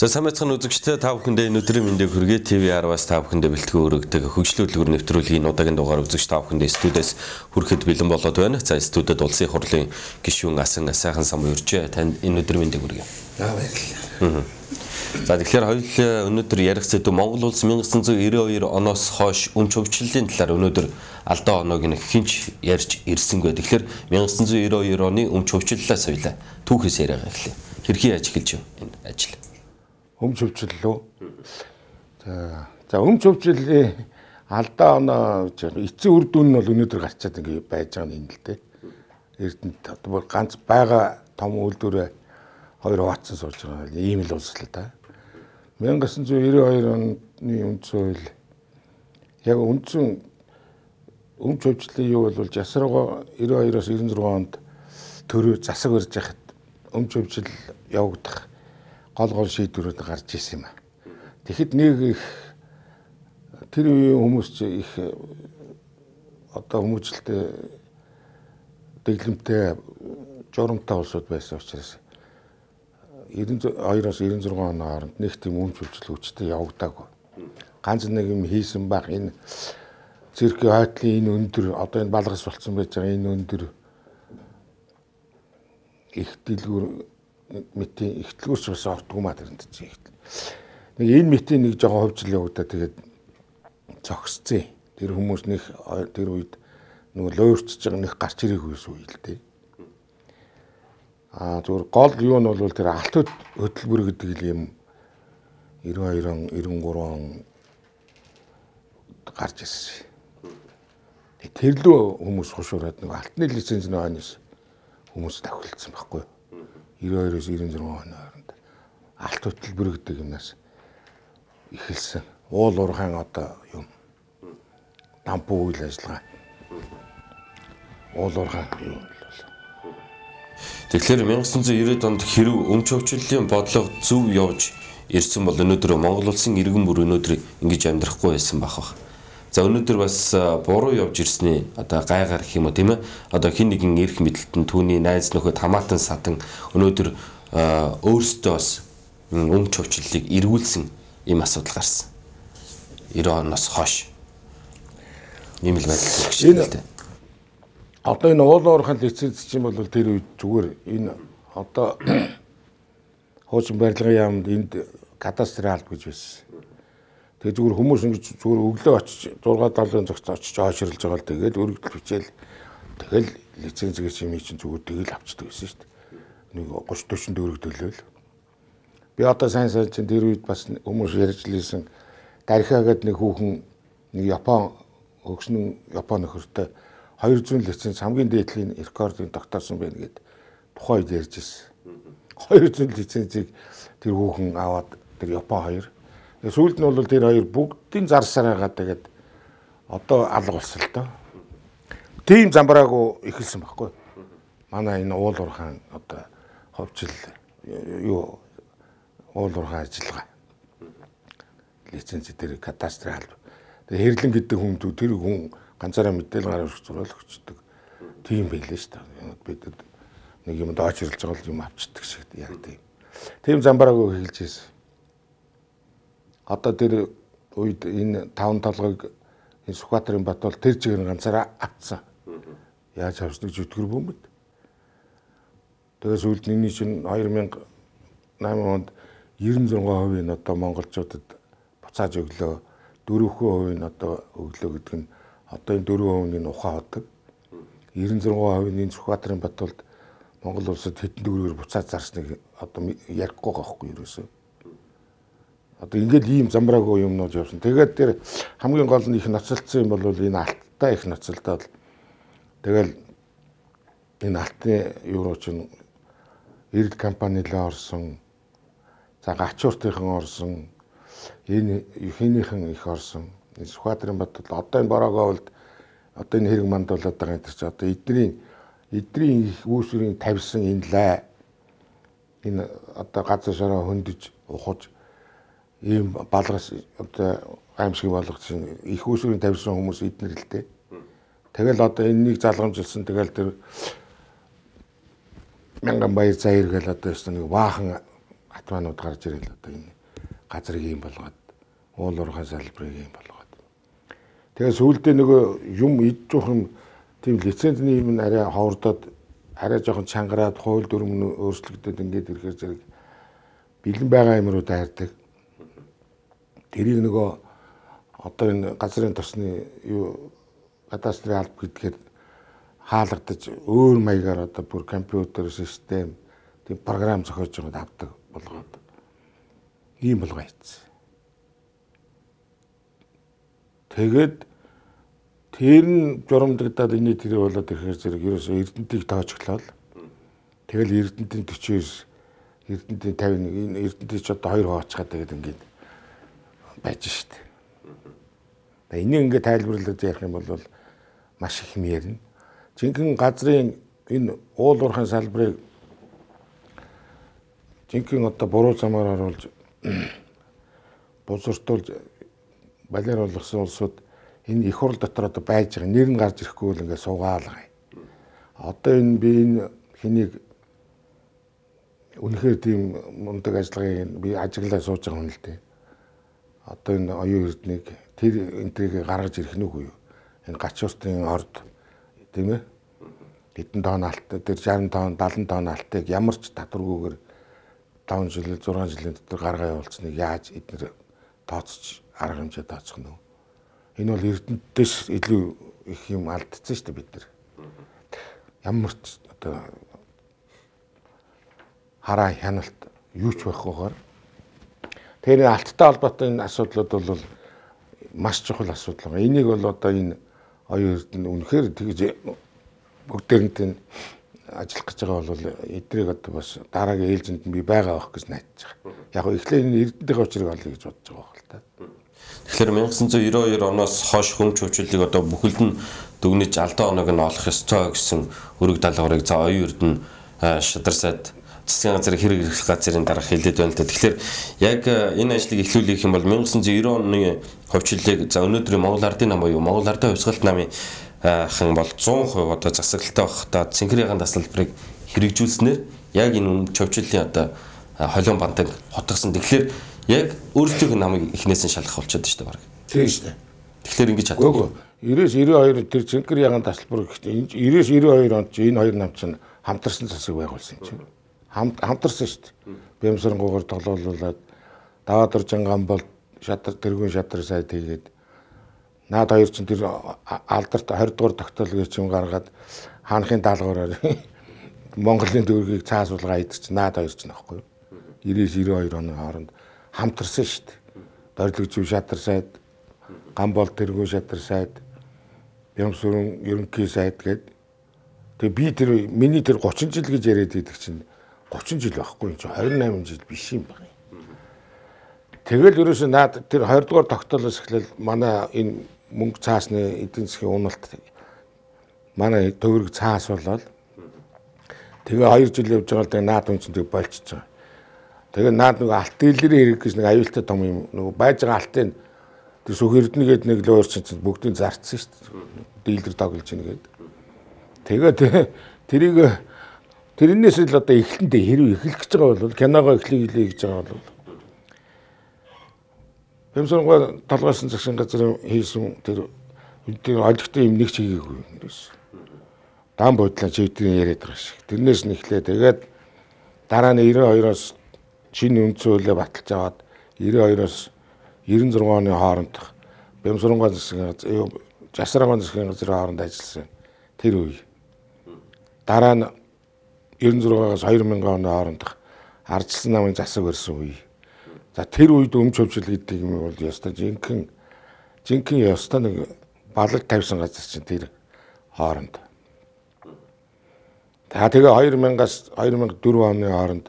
За сайн байцгаана үзэгчдээ та бүхэндээ өнөөдрийн мэндийг хүргэе. TV10-аас та бүхэндээ бэлтгэн өргөдөг хөгжлийн хөтөлбөр нэвтрүүлгийн удаагийн дугаар үзэгч та бүхэндээ студиэс хүрэхэд бэлэн болоод байна. За студиуд улсын их хурлын гишүүн Асан сайхан сам урьжээ. Танд энэ өдрийн мэндийг хүргэе. Баярлалаа. За тэгэхээр хоёулаа өнөөдөр ярих зүйл Монгол улс 1992 оноос хойш өмч хөгжлийн талаар өнөөдөр алдаа оноог нь хинч ярьж ирсэнгүй. Тэгэхээр 1992 оны өмч хөгжлөлөөс хоёлаа түүхээс яриагаа эхлэе. Хэрхэн ажиглаж юм энэ ажил? Өмч хөвчлөлөө. За өмч хөвчлөлийн алдаа оноо эцсийн үр дүн нь бол өнөөдөр гарчаад ингэ байж байгаа юм л дээ. Эрдэнэт одоо ганц байгаа том үйлдвэрээ хоёр хуваацсан суулж байгаа. Ийм л улс л да. 1992 оны үндсэн хууль яг үндсэн өмч хөвчлөлийн юу бол жасргаа 92-оос 96 онд төрөө засаг барьж хахад өмч хөвчл явагдах гол шийдвэрүүд гарч ирсэн юм а. Тэгэхэд нэг их тэр үеийн хүмүүс их одоо хүмүүжлэлтэй дэглэмтэй журамтай улсууд байсан учраас 92-оос 96 оны хооронд нэг тийм өмч хөвчл хүчтэй явагдаагүй. Ганц нэг юм хийсэн баг энэ циркийн хойтлын энэ өндөр одоо энэ балгас болцсон байж байгаа энэ өндөр их дэлгүүр мэтийн их дэлгүүрч бас ортгүй маа тэрэнд чинь. Нэг энэ мэтийн нэг жоохон хөвжил явагдаа тэгээд зогсцээ. Тэр хүмүүс нэг тэр үед нөгөө луурчж байгаа нэг гарч ирээгүй үе л дээ. Зүгээр гол юу нь бол тэр алт хөтөлбөр гэдэг юм 92 он 93 он гарч ирсэн. Тэрлөө хүмүүс хушуураад нэг алтны лиценз нөөс хүмүүс давхилсан байхгүй. 92-оос 96 оны хооронд алт хөтөлбөр гэдэг юмнаас эхэлсэн. Уул уурхайн одоо юм дампуу үйл ажиллагаа. Уул уурхайн юм бол. Тэгэхээр 1990-ад онд хэрв өмч хөвчлөлийн бодлого зөв явж ирсэн бол өнөөдөр Монгол улсын иргэн бүр өнөөдөр ингэж амьдрахгүй байсан бах. За өнөөдөр бас буруу явж ирсний одоо гайгаар гэх юм уу тийм ээ. Одоо хин нэгэн эрх мэдэлтэн түүний найз нөхөд хамаатан садан өнөөдөр өөрсдөө бас өмч хөвчлөлийг эргүүлсэн ийм асуудал гарсан. 90 оноос хойш. Ийм л байдал. Одоо энэ уул уурхайн лиценз чинь бол тэр үед зүгээр энэ одоо хуучин барилгын яамд энд кадастрын алба гэж байсан. Тэгээ зүгээр хүмүүс ингэж зүгээр өглөө очиж 6-7 цагт очиж ойширлж байгаа л тэгээд өргөдөл бичээл тэгэл лицензгээ чинь зүгээр тэгэл авчдаг байсан шүү дээ. Нэг 30-40 өргөдөлөөл. Би одоо сайн чинь тэр үед бас хүмүүс ярьж лээсэн дарихаагаад нэг хүүхэн нэг Япон хөгшнөн Япон нөхөртэй 200 лиценз хамгийн дээдлийн рекордыг тогтоосон байна гэд тухайн үед ярьж ирсэн. 200 лицензийг тэр хүүхэн аваад тэр Япон хоёр. Сүүлд нь бол тэр хоёр бүгдийн зарсаар байгаа тэгээд одоо алга болсон л доо. Тийм замбраагүй эхэлсэн байхгүй. Манай энэ уул уурхайн одоо ховчил юу уул уурхайн ажиллагаа. Лиценз дээр кадастрал. Тэгээд хэрлэн гэдэг хүн тэр хүн ганцаараа мэдээлэл гаргаж зураалагчдаг. Тийм байлээ шүү дээ. Бид нэг юм доочрлж байгаа юм авчдаг шиг яг тийм. Тийм замбраагүй эхэлж ирсэн. Одоо тэр үед энэ 5 толгойг энэ Сүхбаатарын бат бол тэр чигээр ганцаараа авцсан. Яаж авсныг зүтгэр бөмбөд. Тэгээс үлд нэгний чинь 2008 онд 96% нь одоо монголчуудад буцааж өглөө 4% нь одоо өглөө гэдэг нь одоо энэ 4% нь ухаан ходог. 96% нь Сүхбаатарын Батулд Монгол улсад хэдэн төгрөгөөр буцаад зарсныг одоо ярихгүй байгаа хгүй ерөөсөө. Одоо ингээд ийм замбраагүй юмнууд явсан. Тэгээд тэр хамгийн гол нь их ноцолцсон юм бол энэ алттай их ноцолдоод тэгэл энэ алтын евро чинь эрд компанилаа орсон. За гачууртынхан орсон. Энэ хийнийхэн их орсон. Сүхбаатарын Батул одоо энэ Борооговлд одоо энэ хэрэг мандуулаад байгаа энэ чинь одоо эдний их үүсвэрийн тавьсан энэ лай энэ одоо газар шороо хөндөж ухаж ийм балгас одоо аимшиг болгосон их үүсвэрийн тавьсан хүмүүс эднэр л дээ. Тэгэл одоо энэнийг залгамжилсан тэгэл тэр мянган баяр заяр гэл одоо ёстой нэг баахан атманууд гарч ирэл одоо энэ газрыг юм болгоод уул уурхай салбарыг юм болгоод. Тэгээ сүүлдээ нөгөө юм идчихвэн тийм лицензний юм арай ховордоод арай жоохон чангараад хууль дүрм өөрчлөгдөд ингээд ирэхээр зэрэг бэлэн байгаа юмруу дайрдаг. Тэрийг нөгөө одоо энэ газрын тосны юу кадастрын алба гэдгээр хаалгадаж өөр маягаар одоо бүр компьютер систем тийм програм зохиож байгаад авдаг болгоод ийм болгоо ийцсэн. Тэгээд тэр нь журамдагдаад энэ тэр болоод ирэхээр зэрэг ерөөсөө Эрдэнтийг тоочглол. Тэгэл Эрдэнтийн 49, Эрдэнтийн 51, энэ Эрдэнтийг ч одоо 2 хооцгаад тэгээд ингээд байж штт. Энийг ингээд тайлбарлаж ярих юм бол маш их юм ярина. Жинхэнэ газрын энэ уул уурхайн салбарыг жинхэнэ одоо буруу замаар оруулж бузартуулж балиар болгосон улсууд энэ их хурл дотор одоо байж байгаа нэр нь гарч ирэхгүй л ингээд суугаалгаа. Одоо энэ би энэ хэнийг үнэхээр тийм мундаг ажиллагааг би ажиглаа сууж байгаа хүн л дээ. Одоо энэ оюун эрднийг тэр энтрийг гаргаж ирэх нь үгүй юу? Энэ гач устын орд тийм ээ? Хэдэн тонн алт тэр 60 тонн 70 тонн алтыг ямар ч татваргүйгээр 5 жил 6 жилийн дотор гаргаа явуулсныг яаж эдгээр тооцож арга хэмжээ тооцох нь вэ? Энэ бол Эрдэнэтээс илүү их юм алдсан шүү дээ бид нар. Ямар ч одоо хараа хяналт юу ч байхгүйгээр тэр алттай холбоотой энэ асуудлууд бол маш чухал асуудал байна. Энийг бол одоо энэ оюун эрдэнэ үнэхээр тэгж бүгдээрнт нь ажиллах гэж байгаа бол эдрийг одоо бас дараагийн ээлжинд би байгаа байх гэж найдаж байгаа. Яг нь эхлээд энэ эрдэнтийн очрыг олъё гэж бодож байгаа байх л та. Тэгэхээр 1992 оноос хойш хүмч хөвчлөлийг одоо бүхэлд нь дүгнэж алдаа оног нь олох ёстой гэсэн өрөг даалгаврыг за оюун эрдэнэ шадар сайд засгийн газрын хэрэг эрх газрын дарга хэлээд байна л да. Тэгэхээр яг энэ ажлыг эхлүүлэх юм бол 1990 оны хөвчлөлийг за өнөөдрийн Монгол Ардын нам буюу Монгол Ардын хувьсгалт намын хан бол 100% одоо засаглалтай байхдаа цэнхэр ягаан тасалбарыг хэрэгжүүлснээр яг энэ хүмч хөвчлөлийн одоо холион бантыг хотгосон. Тэгэхээр яг өөрсдийнх нь намыг эхнээс нь шалгах болчиход шүү дээ баг. Тийм шүү дээ. Тэгэхээр ингэж чаддаг. 90-92 тэр цэнхэр ягаан тасалбар гэхдээ 90-92 онд энэ хоёр нам чинь хамтарсан засаг байгуулсан юм чинь. Хамтарсан шүү дээ. Бямсарангуугаар тоглоулуулаад даваад уржанган бол шадар тэргүүн шадар сайд хийгээд наад хоёр чинь тэр алдарт 20 дугаар тогтоолгыг чинь гаргаад хаанхын даалгавраар Монголын төгрөгийг цаасуулгаа идчих наад хоёр чинь аахгүй юу. 90-92 оны хооронд хамтарсан шүү дээ. Дорилгожив шадар сайд, Гамбол тэргүүн шадар сайд, Бямсүрэн ерөнхий сайд гээд тэгээ би тэр миний тэр 30 жил гэж яриад идэг чинь 30 жил байхгүй юм чи 28 жил биш юм байна. Тэгэл ерөөсөө наад тэр 20 дугаар тогтоолоос эхлээл манай энэ мөнгө цаасны эдийн засгийн уналт манай төгрөг цаас болоод тэгээ 2 жил явж байгаа л тэгээ наад хүн чинь тэг болчихж байгаа. Тэгээ наад нэг алт дийлэрийн хэрэг гэж нэг аюултай том юм нөгөө байж байгаа алтын тэр сүх эрдэнэгээд нэг л өөр чинь бүгдийг зарцсан шүү дээ. Дийлэр тоглож ийн гээд. Тэгээд тэрнээс л одоо эхлэндээ хэрэг эхлэх гэж байгаа бол киногоо эхлэе гэж байгаа бол Бямсарангуй толгойсон засгийн газрын хийсэн тэр олигтой юм нэг ч хийгээгүй юм ерөөс. Дан буудлаа чивдгийн яриад байгаа шиг. Тэрнээс нь эхлээ тэгээд дараа нь 92-оос шинэ үндсэн хуулийг баталж аваад 92-оос 96 оны хооронд Бямсарангуй засгийн газар Жасрангуй засгийн газрын хооронд ажилласан тэр үе. Дараа нь 96-аас 2000 оны хооронд ардчилсан намын засаг барьсан үе. За тэр үед өмч хөвчл гэдэг юм бол ёстой жинхэнэ ёстой нэг балаг тавьсан газар чинь тэр хооронд. Тэгээ 2000-аас 2004 оны хооронд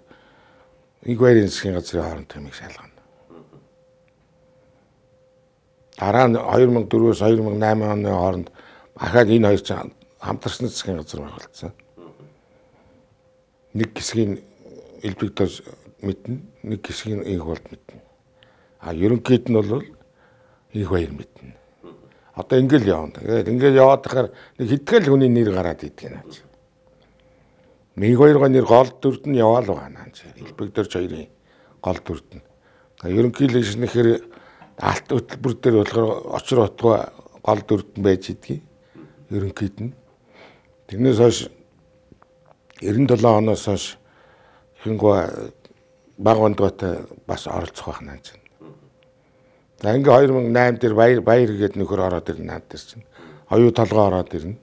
Игвайрын засгийн газрын хооронд тэмийг шалгана. Дараа нь 2004-өөс 2008 оны хооронд ахаад энэ хоёр чинь хамтарсан засгийн газар байгуулсан. Нэг хэсгийн элбэгдэр мэднэ, нэг хэсгийн инх болд мэднэ. Ерөнхийд нь бол инх баяр мэднэ. Одоо ингээл явна. Тэгээд ингээл яваад тахаар нэг хэдгээл хүний нэр гараад идэх юм аа. Инх баярын нэр гол дүрд нь яваал байгаа наа. Элбэгдэрч хоёрын гол дүрд нь. Ерөнхийлөгч нэхэр алт хөтөлбөр дээр болохоор очир утгаа гол дүрд нь байж идэгий. Ерөнхийд нь. Тэрнээс хойш 97 оноос хойш хингуй баг ондгоотой бас оролцох байх наа чинь. За ингээ 2008 дээр баяр гээд нөхөр ороод ирнэ наад дээр чинь. Оюу толгой ороод ирнэ.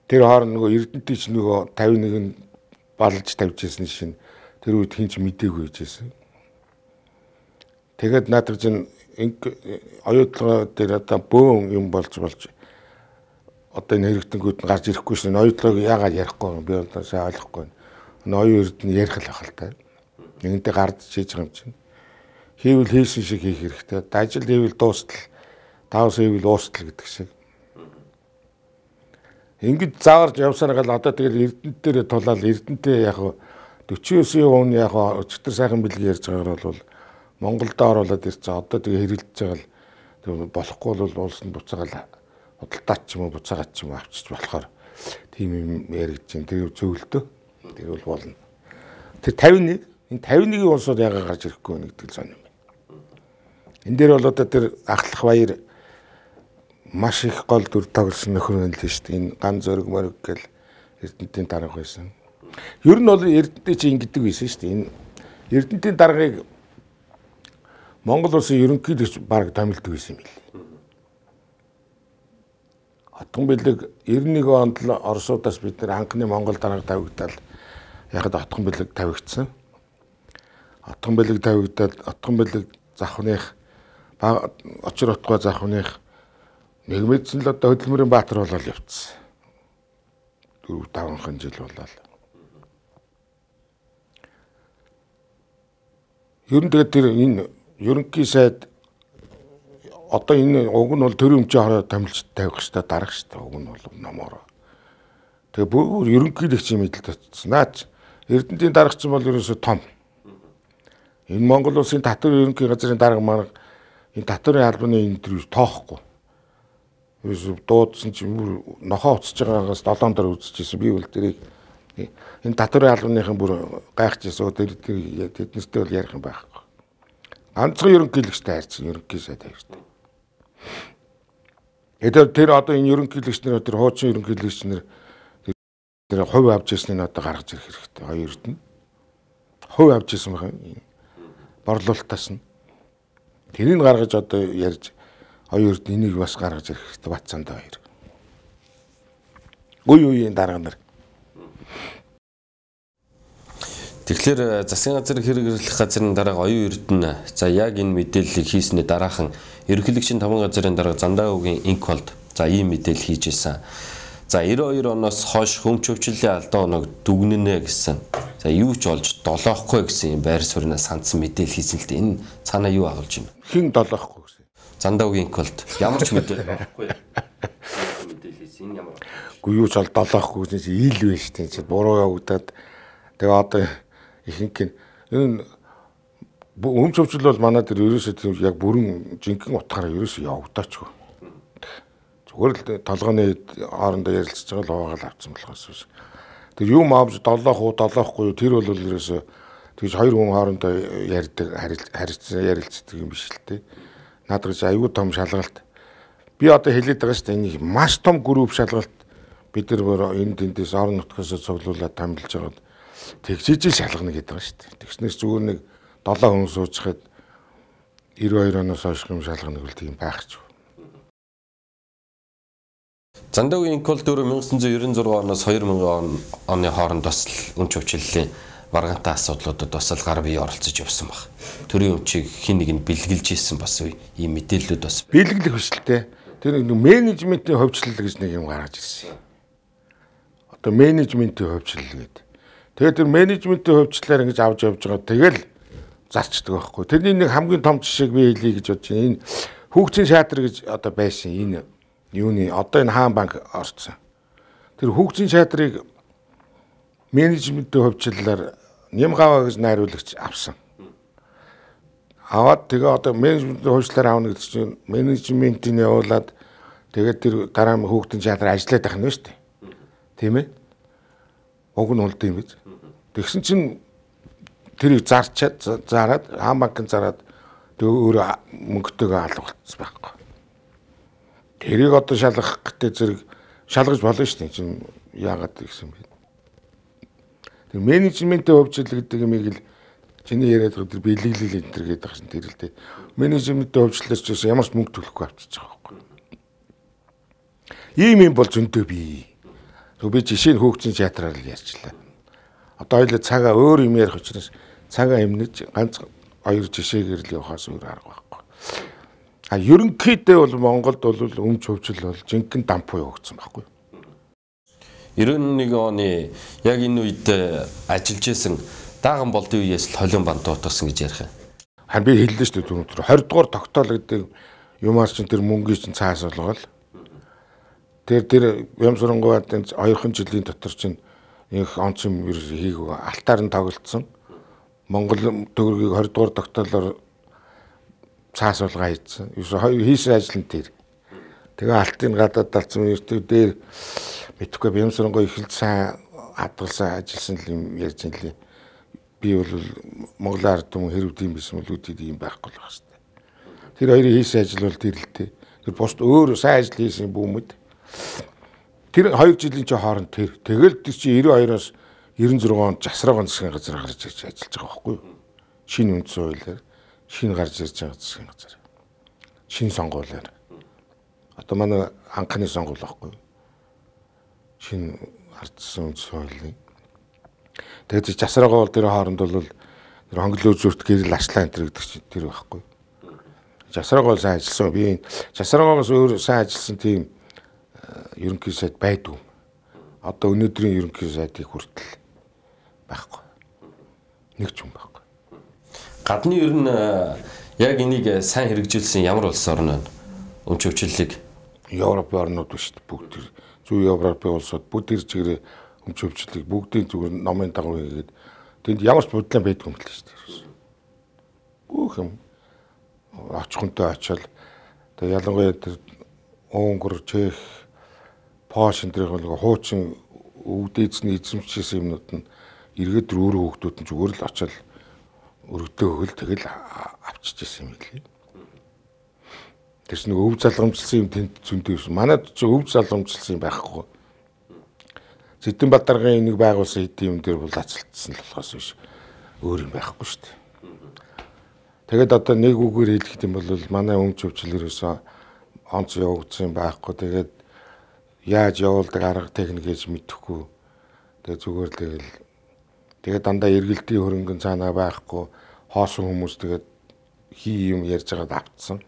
Тэр хооронд нөгөө Эрдэнэтийн чинь нөгөө 51 балж тавьж ирсэн шин тэр үед хинч мэдээгүй байжсэн. Тэгээд наадах чинь оюу толгой дээр одоо бөөн юм болж одоо энэ хэрэгтэнгүүд нь гарч ирэхгүй шин оюу толгойг яагаад ярихгүй би одоо сайн ойлгохгүй. Оюу эрдэнэ ярих л ахал та. Нэгэнтээ гард чийж байгаа юм чинь. Хийвэл хийсэн шиг хийх хэрэгтэй. Ажил хийвэл дуустал, давс хийвэл уустал гэдэг шиг. Ингэж зааварж явсараа гал одоо тэгэл Эрдэнэт дээр тулаад Эрдэнэтэй яг 49% яг өчтөр сайхан бэлэг ярьж байгаагаар бол Монголд оруулаад ирсэн. Одоо тэгээ хэрэлдэж байгаа л болохгүй бол улс нь буцаагаал худалдаач ч юм уу буцаагаад ч юм уу авчиж болохоор тийм юм яригдж байна. Тэр зөвлөдөө. Тэр бол болно. Тэр 51 энэ 51-ийн улсууд яагаад гарч ирэхгүй вэ гэдэг л сонирм байна. Энэ дээр бол одоо тэр ахлах баяр маш их гол дүр тоглосон нөхөр нь л шүү дээ. Энэ ган зөрөг мөрөг гэл Эрдэнэтийн дарга байсан. Ер нь бол Эрдэнэт чи ингэдэг байсан шүү дээ. Энэ Эрдэнэтийн даргыг Монгол улсын ерөнхийлөгч баг томилдог байсан юм билээ. Отгон бэлэг 91 онд л Оросуудаас бид нэр анхны Монгол дарга тавигдаад яхад отгон бэлэг тавигдсан. Отгон бэлэг тавигдаад отгон бэлэг завхных очир утгаа завхных нэг мэдсэн л одоо Хөдөлмөрийн Баатар болол явцсан. 4-5 жил болол. Ер нь тэгээд тэр энэ ерөнхий сайд одоо энэ уг нь бол төрийн өмчийн хороо томилж тавих хэрэгтэй дарах хэрэгтэй уг нь бол номоор. Тэгээ бүр ерөнхийлөгчийн мэдлэл татсан. Наач Эрдэнэтийн даргач бол ерөөсө том. Энэ Монгол улсын татвар ерөнхий газрын дарга маань энэ татварын албаны энэ төр тоохгүй. Ерөөсө дуудсан чинь бүр нохоо уцаж байгаагаас 7 дор үзчихсэн. Би бол тэрийг энэ татварын албаныхан бүр гайхаж ирсэн. Тэднэртэй бол ярих юм байхгүй. Ганцхан ерөнхийлөгчтэй хайрцсан ерөнхий сайд хайртай. Тэр одоо энэ ерөнхийлөгч нар тэр хуучин ерөнхийлөгч нар тэр хувь авч ирснийг одоо гаргаж ирэх хэрэгтэй. Хоёрт нь хувь авч ирсэн байх юм. Борлуулалтаас нь тэрийг гаргаж одоо ярьж хоёрт энийг бас гаргаж ирэх хэрэгтэй. Батцаанд хоёр. Үеийн дарга нар. Тэгэхээр засгийн газрын хэрэгжлэх газрын дарга оюун эрдэнэ за яг энэ мэдээллийг хийснээр дараахан ерөнхийлөгчийн 5 газрын дарга Зандаагийн инквалд за ийм мэдээлэл хийж исэн. За 92 оноос хойш хөмч хөвчлөлийн алдаа оног дүгнэнэ гэсэн. За юу ч олж долоохгүй гэсэн юм байр сууриас хандсан мэдээлэл хийсэн л дээ. Энэ цаанаа юу агуулж байна? Хин долоохгүй гэсэн. Зандаагийн инквалд ямар ч мэдээлэл байхгүй. Мэдээлэл хийсэн энэ ямар. Гү юу ч ол долоохгүй гэсэн чинь ил байна шүү дээ. Буруу явагдаад тэгээ одоо ихэнх нь энэ өмч хөвчл бол манай дээр ерөөсөө яг бүрэн жинхэнэ утгаараа ерөөсөө явагдаачгүй. Зүгээр л толгойн хоорондоо ярилцж байгаа л хуваагаал авцсан болохоос биш. Тэр юм авч долоохгүй тэр бол ерөөсөө тэгж хоёр хүн хоорондоо ярьдаг ярилцдаг юм биш л те. Наадах чи аюу том шалгалт. Би одоо хэлээд байгаа шүү дээ энэ маш том групп шалгалт бид нар энэ тэндээс орон нутгаас цуглуулад томилж байгаа. Тэгжиж шалгана гэдэг байгаа шүү дээ. Тэгснээс зүгээр нэг 7 хүн суучхад 92 оноос хойш юм шалгана гэвэл тийм байхгүй. Зандаагийн инквалд 1996 оноос 2000 оны хооронд бас л өмч хөвчлөлийн маргаантай асуудлуудад бас л гар бие оролцож явсан баг. Төрийн өмчийг хин нэг нь бэлгэлж ийсэн бас ийм мэдээллүүд бас бэлгэлэх биш л те. Тэр нэг менежментийн хөвчлөл гэж нэг юм гаргаж ирсэн. Одоо менежментийн хөвчлөл гэдэг. Тэгээд тэр менежментийн хөвчлөлээр ингэж авч явж байгаа. Тэгэл зарчдаг байхгүй. Тэрний нэг хамгийн том жишээг би хэлье гэж бодож байна. Энэ хүүхдийн шаатар гэж одоо байсан. Энэ юуны одоо энэ хаан банк орцсон. Тэр хүүхдийн шаатрыг менежментийн хөвчлөлөөр Нямгава гэж найруулагч авсан. Аваад тэгээ одоо менежментийн хөвчлөлөөр аавна гэдэг чинь менежментийн явуулаад тэгээд тэр дараа нь хүүхдийн шаатар ажиллаад байх нь шүү дээ. Тийм ээ? Уг нь улд юм биз. Тэгсэн чинь тэрийг зараад банкын зараад тэгээ өөрөө мөнгөтэйгээ алга болчихсон байхгүй. Тэрийг одоо шалгах гэдэг зэрэг шалгаж болно шүү дээ. Чинь яагаад гэсэн бэ? Тэгээ менежментийн хөвчлөл гэдэг юмыг л чиний яриад байгаа тэр бэлэглэл энэ төр гэдэг чинь тэр л дээ. Менежментийн хөвчлөлөөс ч ямар ч мөнгө төлөхгүй авчиж байгаа байхгүй. Ийм юм бол зөндөө бий. Би жишээ нь хөөгцийн театраар л ярьчлаа. Одоо хоёул цагаа өөр юм ярих учраас цагаа эмнэж ганц хоёр жишээгээр л явахаас өөр арга байхгүй. Ерөнхийдөө бол Монголд бол өмч хөвчл бол жинхэнэ дампуу явагдсан байхгүй. 91 оны яг энэ үед ажиллаж исэн дааган болдын үеэс л холион банд дуутгасан гэж ярих юм. Харин би хэллээ шүү дээ түрүүн 20 дугаар тогтоол гэдэг юмар чинь тэр мөнгөний чинь цаас болгоол. Тэр Ямсрангуйдын 2 жилийн дотор чинь их онцгой ер хийгөө алтаар нь тоглолцсон. Монгол төгрөгийг 20 дугаар тогтоолоор цаас болгоо хийсэн. Хийсэн ажил нь тэр. Тэгээ алтын гадаад талцсан ертөө дээр мэдхгүй Ямсрангуй их л сайн хадгалсан ажилласан юм ярьж байна лээ. Би бол Монголын ард түмэн хэрэг тийм байсан бол үүдээ ийм байхгүй л байгаа шүү дээ. Тэр хоёрын хийсэн ажил бол тэр л дээ. Тэр бусд өөр сайн ажил хийсэн бүүмэд. Тэр 2 жилийн ч хооронд тэр тэгэл тэр чи 92-оос 96 онд Жасраагаан засгийн газар гарч ирж ажиллаж байгаа байхгүй юу? Шинэ үндсэн хуулиар шинэ гарч ирж байгаа засгийн газар. Шинэ сонгуулиар. Одоо манай анхны сонгуул байхгүй юу? Шинэ ардсан үндсэн хуулийн. Тэгээд Жасраагаа бол тэр хооронд бол тэр хонглоо зүрт гэрэл арслаа энэ гэдэг чинь тэр байхгүй юу? Жасраагаа сайн ажилласан. Би Жасраагаагаас өөр сайн ажилласан тийм ерөнхий сайд байдгүй. Одоо өнөөдрийн ерөнхий сайдыг хүртэл байхгүй. Нэг ч юм байхгүй. Гадны ер нь яг энийг сайн хэрэгжүүлсэн ямар улс орн вэ? Өмч хөвчлөлийг Европын орнууд биш бүгд тэр зүүн Европын улсууд бүгд тэр чигээр өмч хөвчлөлийг бүгдийн зүгээр номын дагуу хийгээд тэнд ямар ч бодлоо байдгүй юм л шүү дээ. Бүх юм очихонтой очил. Тэгээ ялангуяа тэр Унгар, Чех, Польш энэ төрлийн нэг хуучин өвдөйцний эзэмшсэн юмнууд нь эргээд өөрөө хүүхдүүд нь зүгээр л очил өргөдөө өгөл тэгэл авчиж ирсэн юм лээ. Тэрс нэг өв залгамжлсан юм тэнд зөндөө байсан. Манайд ч өв залгамжлсан юм байхгүй. Зэдэнбаатаргийн нэг байгуулсан хэдийн юм дээр бол ацалтсан л болохоос биш өөр юм байхгүй шүү дээ. Тэгэд одоо нэг үгээр хэлэх юм бол манай өмч хөвчлөрөөсөө онц явагдсан байхгүй. Тэгээд яаж явуулдаг арга техник гэж мэдэхгүй. Тэгээд зүгээр тэгээд дандаа эргэлтийн хөрөнгөн цаанаа байхгүй. Хоосон хүмүүс тэгээд юм ярьж байгаад автсан.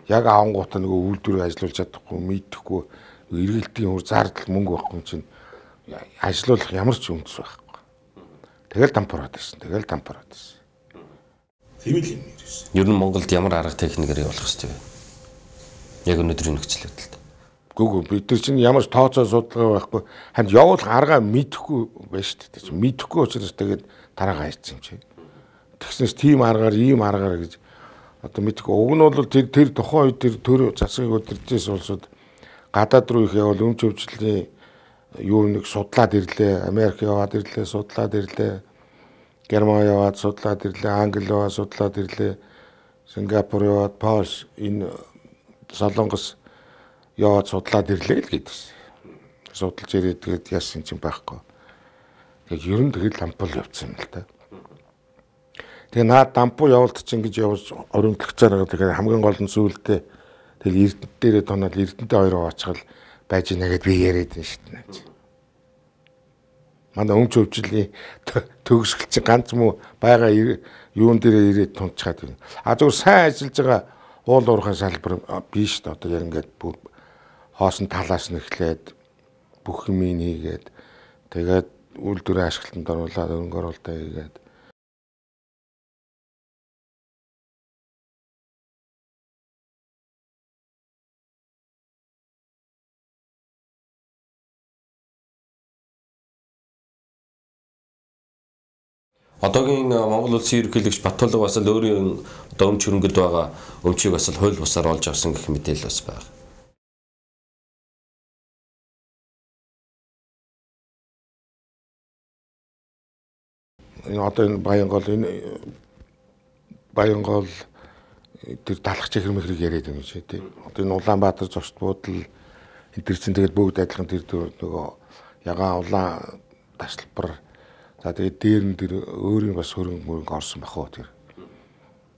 Яг авангуудаа нөгөө үйлдвэрээ ажиллуулж чадахгүй, мэдэхгүй эргэлтийн хөр зардал мөнгө байхгүй чинь ажиллуулах ямар ч үндэс байхгүй. Тэгэл дампуураад ирсэн. Тийм л юм ирсэн. Ер нь Монголд ямар арга техникээр явуулах хэрэгтэй вэ? Яг өнөөдрийн нөхцөл байдалд. Гүг бид нар чинь ямар ч тооцоо судалгаа байхгүй. Ханд явуулах аргаа мэдэхгүй байна шүү дээ. Мэдэхгүй учраас тэгээд дараагаа хийсэн юм чи. Тэгснээс тийм аргаар ийм аргаар гэж одоо мэдэхгүй. Уг нь бол тэр тухайн үед тэр төр засгийг удирдахээс улсууд гадаад руу их явал өмч хөвчлөлийн юу нэг судлаад ирлээ. Америк яваад ирлээ, судлаад ирлээ. Герман яваад судлаад ирлээ, Англи яваад судлаад ирлээ. Сингапур яваад, Польш энэ Солонгос яваад судлаад ирлээ л гэдэгсэн. Судалж ирээд тэгээд яасан чинь байхгүй. Тэгээд ер нь тэгээд лампуул явцсан юм л да. Тэгээд наад дампуу явуулт чинь гэж явж оримтлогцоор байгаа. Тэгээд хамгийн гол нь сүүлдээ тэгэл Эрдэнэт дээрээ тоноод Эрдэнэтэй хоёр оочгол байж ийна гэд би яриад байна шүү дээ. Манай өмч хөвчлийн төгсгөл чинь ганц муу байгаа юун дээрээ ирээд тунцгаад байна. Зүгээр сайн ажиллаж байгаа уул уурхай салбар биш дээ. Одоо яг ингээд бүр хоосон талаас нь эхлээд бүх юм хийгээд тэгээд үйлдвэрийн ашиглалтанд оруулаад өнгө оруулалтаа хийгээд одоогийн Монгол улсын ерөнхийлөгч Баттулга бас л өөрийн одоо өмч хөрөнгөд байгаа өмчийг бас л хууль бусаар олж авсан гэх мэдээлэл бас байна. Энэ одоо энэ Баянгол тэр талах чихэр мэхрийг яриад байгаа юм шиг тий. Одоо энэ Улаанбаатар зочд буудал энэ төр чинь тэгээд бүгд адилхан тэр нөгөө ягаан улаан таслбар за тэгээд дээр нь тэр өөрийн бас хөрөнгө орсон бахуу тэр.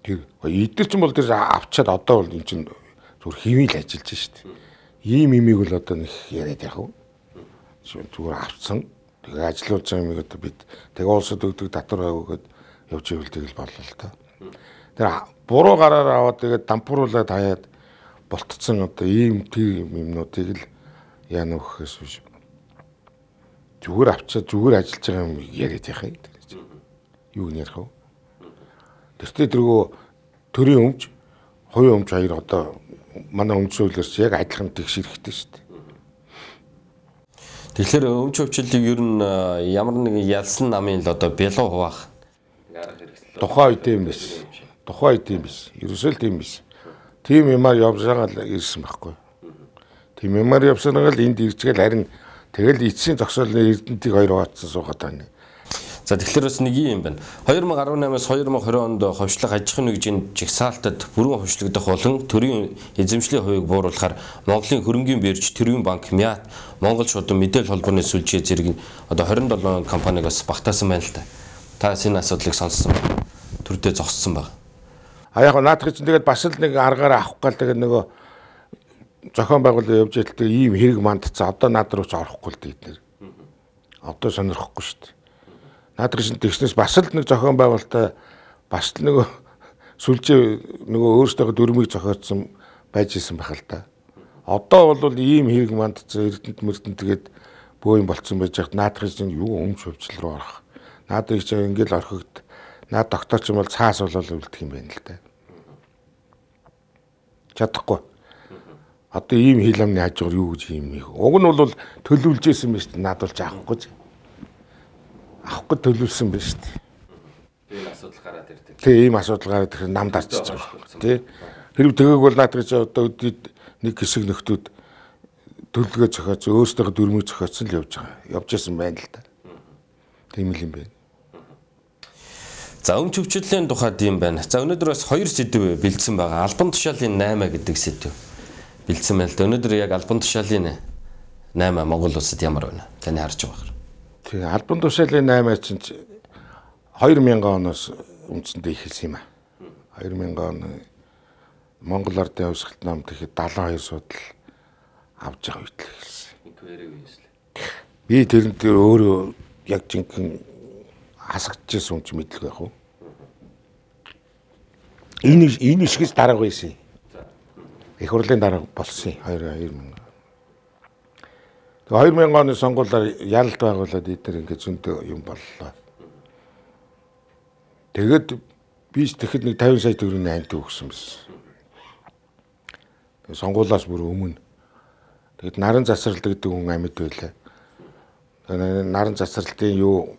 Тэр эдгээр чинь бол тэр авчаад одоо бол энэ чинь зүгээр хэвийн л ажиллаж штт. Ийм имийг бол одоо нэг яриад яах вэ? Зүгээр авцсан. Тэгээ ажиллуулж байгаа юмыг одоо бид тэгээ улсад өгдөг татвар өгөөд явж ивэл тэгэл боллоо л та. Тэр буруу гараар аваад тэгээд дампууруулаад хаяад болтцсон одоо ийм тийм юмнуудыг л яана өгөхөөс биш. Зүгээр авчаад зүгээр ажиллаж байгаа юм яриад яах юм. Юу нэрх вэ? Тэртээ тэргөө төрийн өмч, хоёрын өмч хоёр одоо манай өмчүүлэрч яг адилхан тэгш хэрэгтэй шүү дээ. Тэгэхээр өмч өвчлөлийг ер нь ямар нэгэн ялсан намын л одоо бялуу хуваах тухайн үед юм биш. Тухайн үед юм биш. Ерөөсөө л тийм биш. Тийм юмар явж байгаа л ирсэн байхгүй. Тийм юмар явсанаа л энд ирчгээл харин тэгэл эцсийн зогсоолны Эрдэнтийг хоёр хуваацсан суугаад байна. За тэгэхээр бас нэг юм байна. 2018-аас 2020 онд ховшлох аж ахуйн нэгжийн жигсаалтад бүрэн ховшлогдох болон төрийн эзэмшлийн хувийг бууруулахаар Монголын хөрөнгийн бирж, Төрийн банк, МЯАТ, Монгол шуудан мэдээлэл холбооны сүлжээ зэрэг одоо 27 компанигоос багтаасан байна л та. Та энэ асуудлыг сонссон байна. Төрдөө зогссон байна. А яг наадах чинь тэгээд бас л нэг аргаараа авах гал тэгээд нөгөө зохион байгуулалт явж идэлтэй ийм хэрэг мандцсан. Одоо наад руу ч орохгүй л дээ эднэр. Одоо сонирхгүй шүү дээ. Наадах чинь тэгснээс бас л нэг зохион байгуулалтаа бас л нөгөө сүлжээ нөгөө өөрсдөө дөрмийг зохиодсон байж исэн байх л та. Одоо бол ийм хэрэг мандцсан Эрдэнэт тэгээд бөө юм болцсон байж хат наадах чинь юу өмч хөвчл рүү орох. Наадах чинь ингээл орхигд. Наад доктор ч юм бол цаас болол үлдэх юм байна л да. Чадахгүй. Одоо ийм хил амны хажуугаар юу гэж юм их. Уг нь бол төлөвлөжсэн байна шүү дээ. Наад болж авахгүй ч. Авахгүй төлөвлөсөн байна шүү дээ. Тийм асуудал гараад ирдэг. Тийм ийм асуудал гараад ирэхээр нам дарчиж байгаа. Тий. Хэрэг тэгээг бол наад гэж одоо нэг хэсэг нөхдүүд төлөвлөгөө зохиоц өөрсдөө дөрмөг зохиоцсон л явж байгаа. Явж исэн байна л да. Тийм л юм байна. За өмч өвчлөлийн тухайд юм байна. За өнөөдөр бас 2 сэдв бэлдсэн байгаа. Албан тушаалын 8 гэдэг сэдв бэлдсэн байна л да. Өнөөдөр яг албан тушаалын 8 Монгол улсад ямар байна? Таны харж байгаа. Тэгээ албан тушаалын 8 чинь 2000 оноос үндсэндээ ихэлсэн юм а. 2000 он Монгол Ардын Хувьсгалт намд ихэд 72 судал авж байгаа үед л ихэлсэн. Би тэрэн дээр өөрөө яг жинхэнэ хасагдчихсан юм чи мэдлэг байх уу? Энэ ишгээс дарга байсан. Их хурлын дарга болсон 2000. Тэгээ 2000 оны сонгуулиар ялалт байгуулад эдгээр ингээд зөндөө юм боллоо. Тэгээд би тэгэхэд нэг 50 сая төгрөгийн амт өгсөн байсан. Тэгээ сонгуулиас бүр өмнө. Тэгэд наран засварлалт гэдэг хүн амьд байлаа. Наран засварлалтын юу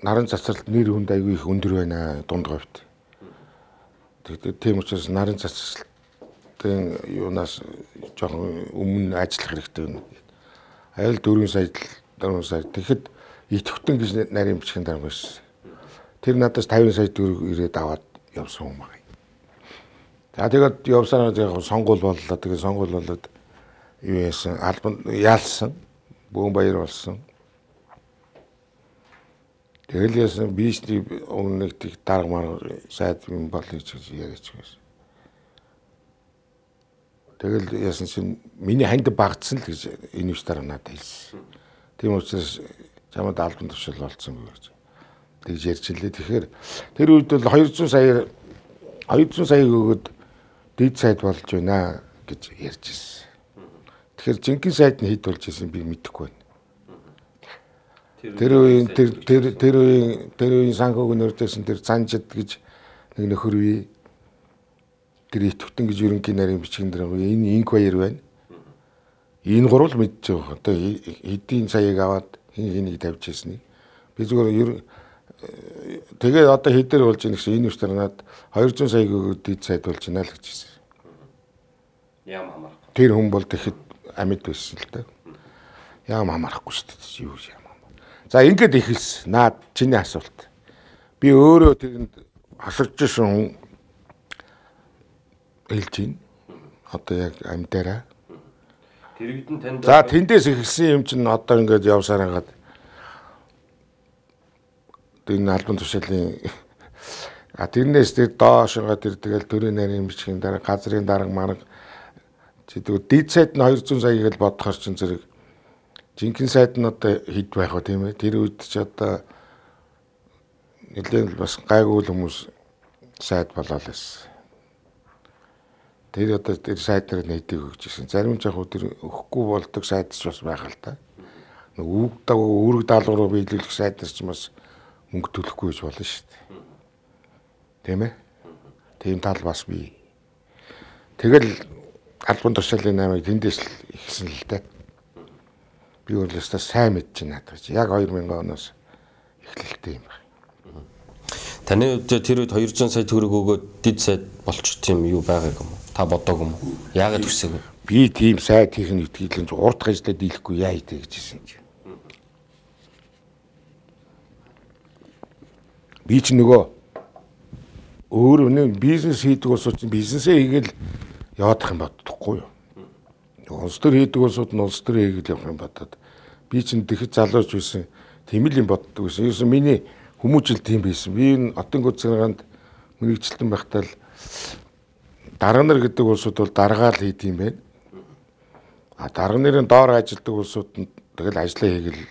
наран засварлалт нэр хүнд аягүй их өндөр байна дунд говьт. Тэгээд тийм учраас наран засварлалтын юунаас жоохон өмнө ажиллах хэрэгтэй байна. Айл 4 сая тэгэхэд идэвхтэн гэж нарийн бичгийн дарга байсан. Тэр надаас 50 сая төгрөг ирээд аваад явсан юм байна. За тэгээд явсанаа яг сонгуул боллоо. Тэгээд сонгуул болоод юу яасан албан яалсан бөөн баяр болсон. Тэгэл яасан бишний өмнө нэг тийг дарга мар сайд юм болъё гэж яриач байсан. Тэгэл яасан чинь миний ханд багтсан л гэж энэ үс дараа надад хэлсэн. Тийм учраас чамд албан тушаал болсон гэж тэгж ярьж илээ. Тэгэхээр тэр үед бол 200 саяг өгөөд дэд сайд болж байна гэж ярьж ирсэн. Тэгэхээр жинхэнэ сайд нь хэд болж ирсэн би мэдэхгүй байна. Тэр үеийн санхүүг нөрдөөсөн тэр Цанжид гэж нэг нөхөр бий. Тэр итгэвтэн гэж ерөнхий нарийн бичгийн дараа энэ инк баяр байна. Энэ гурвал мэдж байгаа. Одоо эдийн саяг аваад хэнийг тавьж ирснийг. Би зүгээр тэгээд одоо хэдээр болж ийн гэсэн энэ үстэр надад 200 сая өгөөд дэд сайд болж байна л гэж хэлсэн. Яам хамаарахгүй. Тэр хүн бол тэгэхэд амьд байсан л да. Яам хамаарахгүй шүү дээ. Юу яам. За ингээд ихэлсэн. Наад чиний асуулт. Би өөрөө тэрэнд хасагчсан хүн хэлж байна. Одоо яг амьдаараа. Тэрэгдэн танд За тэндээс ихэлсэн юм чинь одоо ингээд явсаар хагаад энэ албан тушаалын тэрнээс тэр доошоо тэр тэгэл төрийн нарийн бичгийн дараа газрын дарга марга чидүү дид сайд нь 200 сая гэж бодохоор чинь зэрэг жинхэнэ сайд нь одоо хэд байх вэ тийм ээ. Тэр үед ч одоо нэлээд бас гайгүй хүмүүс сайд болоо л байсан. Тэр одоо тэр сайд дээр нэдэг өгч ирсэн. Зарим ч яг тэр өгөхгүй болдог сайдч бас байгаа л да. Нэг үүрэг даалгавруу биелүүлэх сайдэр ч бас мөнгө төлөхгүй гэж болно шүү дээ. Тийм ээ. Тийм тал бас бий. Тэгэл албан тушаалын 8-ыг тэндээс л ихсэн л дээ. Би өөрөөсөө сайн мэдэж байна гэж. Яг 2000 оноос эхлэлтэй юм байна. Таны хувьд тэр үед 200 сая төгрөг өгөөд дид сайд болчих тийм юу байгааг юм уу? Та бодоог юм уу? Яагаад хүсэв? Би тийм сайд хийх нь итгэлэн урд гажлаа дийлэхгүй яа идэ гэж хэлсэн чи. Би ч нөгөө өөр нэг бизнес хийдэг улсууд чинь бизнесээ хийгээл явах юм боддохгүй юу. Улс төр хийдэг улсууд нь улс төр хийгээл явах юм бодоод би чинь тэгэхэд залууч байсан тийм л юм боддог байсан. Ерөөсөн миний хүмүүжил тийм байсан. Би энэ Отын гүцгэрганд мэрэгчлэн байхдаа л дарга нар гэдэг улсууд бол даргаал хийд юм байна. Дарга нарын доор ажилладаг улсууд нь тэгэл ажлаа хийгээл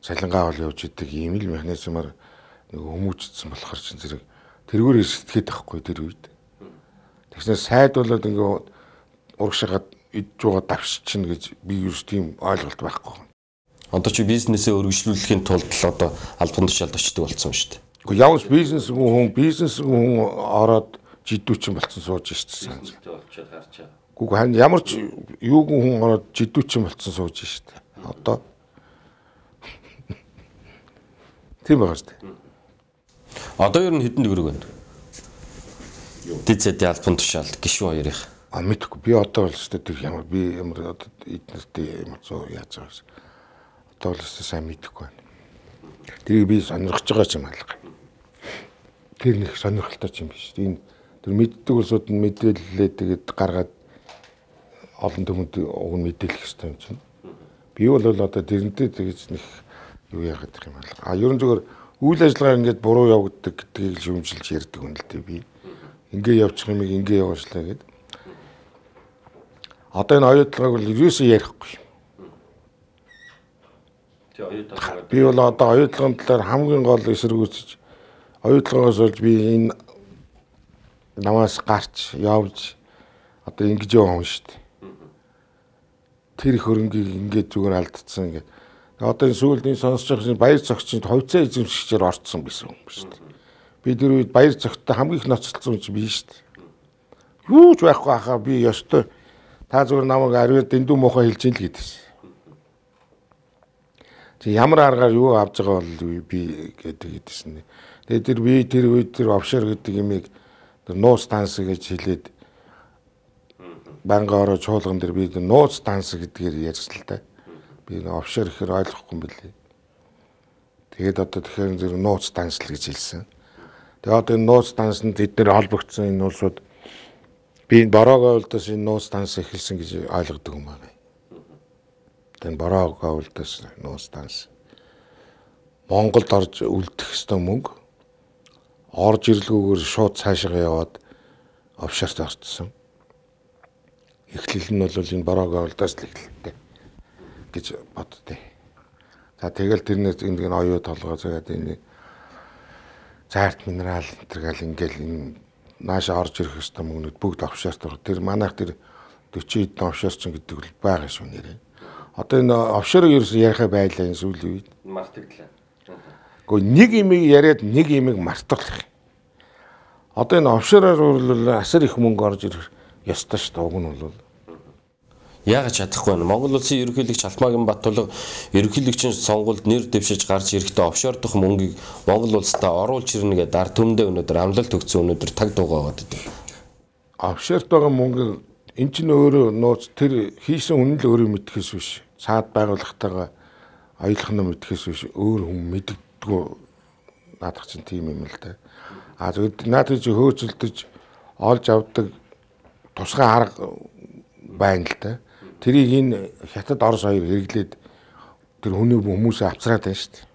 цалингаа ол явж идэг ийм л механизмаар нэг хүмүүжсэн болохоор чинь зэрэг тэргээр сэтгэхэд байхгүй тэр үед. Тэгснээр сайд болоод ингээ урагшаагаад идж байгаа давшчихна гэж би ерөөс тийм ойлголт байхгүй. Одоо чи бизнесээ өргөжлүүлэхийн тулд л одоо албан тушаалд очдог болсон шүү дээ. Гэхдээ явж бизнес хүн ороод жидүүчин болсон сууж шít. Бизнестэй болчиход гарч байгаа. Гэхдээ харин ямар ч юугүй хүн ороод жидүүчин болсон сууж шít. Одоо тийм байгаа шүү дээ. Одоо ер нь хэдэн төгрөг байна? Дид сайдын албан тушаал гишүүн хоёрын. Мэдгүй би одоо бол өстой тэр ямар би ямар одоо эднэртэй ямар зөө яаж байгаа юм. Одоо бол өстой сайн мэдэхгүй байна. Тэрийг би сонирхож байгаа юм алга. Тэр нэг сонирхолтой юм биш. Энэ тэр мэддэг улсууд нь мэдээлэлээ тэгээд гаргаад олон түмэнд уг нь мэдээлэх хэрэгтэй юм чинь. Би бол одоо тэрнтэй тэгж нэг юу яагаад гэх юм алга. Ерөн зүгээр үйл ажиллагаа ингээд буруу явагддаг гэдгийг шүүмжилж ярьдаг юм л дээ би. Ингээ явчих юмыг ингээ яваачлаа гэдэг. Одоо энэ оюутлагыг бол ерөөсөө ярихгүй юм. Би бол одоо оюутлагын талаар хамгийн гол эсэргүүцэж оюутлагаас болж би энэ намаас гарч явж одоо ингэж яваа хүн шүү дээ. Тэр их хөрөнгийг ингээд зүгээр алдчихсан ингээд. Одоо энэ сүүлд энэ сонсож байгаа баяр цогцын ховцоо эзэмшигчээр орцсон байсан юм шүү дээ. Би тэр үед баяр цогцтой хамгийн их ноцолцсон юм биш шүү дээ. Юу ч байхгүй хаа би ёстой та зүгээр намайг ариун дэндүү муухай хэлж ийн л гэдэгсэн. Чи ямар аргаар юу авж байгаа бол би гэдэг гэдсэн. Тэгээд тэр үед тэр офшор гэдэг имийг нууц данс гэж хэлээд банга ороо чуулган дээр би нууц данс гэдгээр ярьсан л да. Би офшор гэхээр ойлгохгүй юм билээ. Тэгээд одоо тэгэхээр зэрэг нууц данс л гэж хэлсэн. Тэгээд одоо энэ нууц дансанд тэд нэр холбогдсон энэ улсууд би энэ Бороо говьлдоос энэ нууц данс эхэлсэн гэж ойлгодог юм байна. Тэгээд Бороо говьлдоос нууц данс Монголд орж үлдэх ёстой мөнгө орж ирлгүүгээр шууд цаашаа яваад офшорт орцсон. Эхлэл нь бол энэ Бороо говьлдоос л эхэлдэг гэж боддөө. За тэгэл тэрнээс энэ оюу толгой заагаад энэ заарт минерал энтергээл ингээл энэ нааша орж ирэх ёстой мөнгөд бүгд офшорт ор. Тэр манайх тэр 40 хэдэн офшорчин гэдэг бол байгаа шүү нэрээ. Одоо энэ офшорыг ерөөсөө ярихаа байлаа энэ сүүлийн үед. Мартагдлаа. Гэхдээ нэг имийг яриад нэг имийг мартуулах. Одоо энэ офшороор бол асар их мөнгө орж ирэх ёстой шүү дээ. Уг нь бол Яагаад чадахгүй вэ? Монгол улсын ерөнхийлөгч Алмаагийн Баттулга ерөнхийлөгчийн сонгуульд нэр дэвшиж гарч ирэхдээ офшор дох мөнгийг Монгол улстай оруулж ирнэ гэдэг ард түмэндээ өнөөдөр амлалт өгсөн өнөөдөр таг дуугаад байдаг. Офшорт байгаа мөнгө эн чинь өөрөө нууц тэр хийсэн үнэн л өөрөө мэдхээс биш. Цаад байгууллагатайгаа аялах нь мэдхээс биш өөр хүн мэддэггүй наадах чинь тийм юм л да. Зөвхөн наадах чи хөөцөлдөж олж авдаг тусгай арга байна л да. Тэрийг энэ хятад Орос хоёр хэрэглээд тэр хүний хүмүүсээ авцраад байна шүү дээ.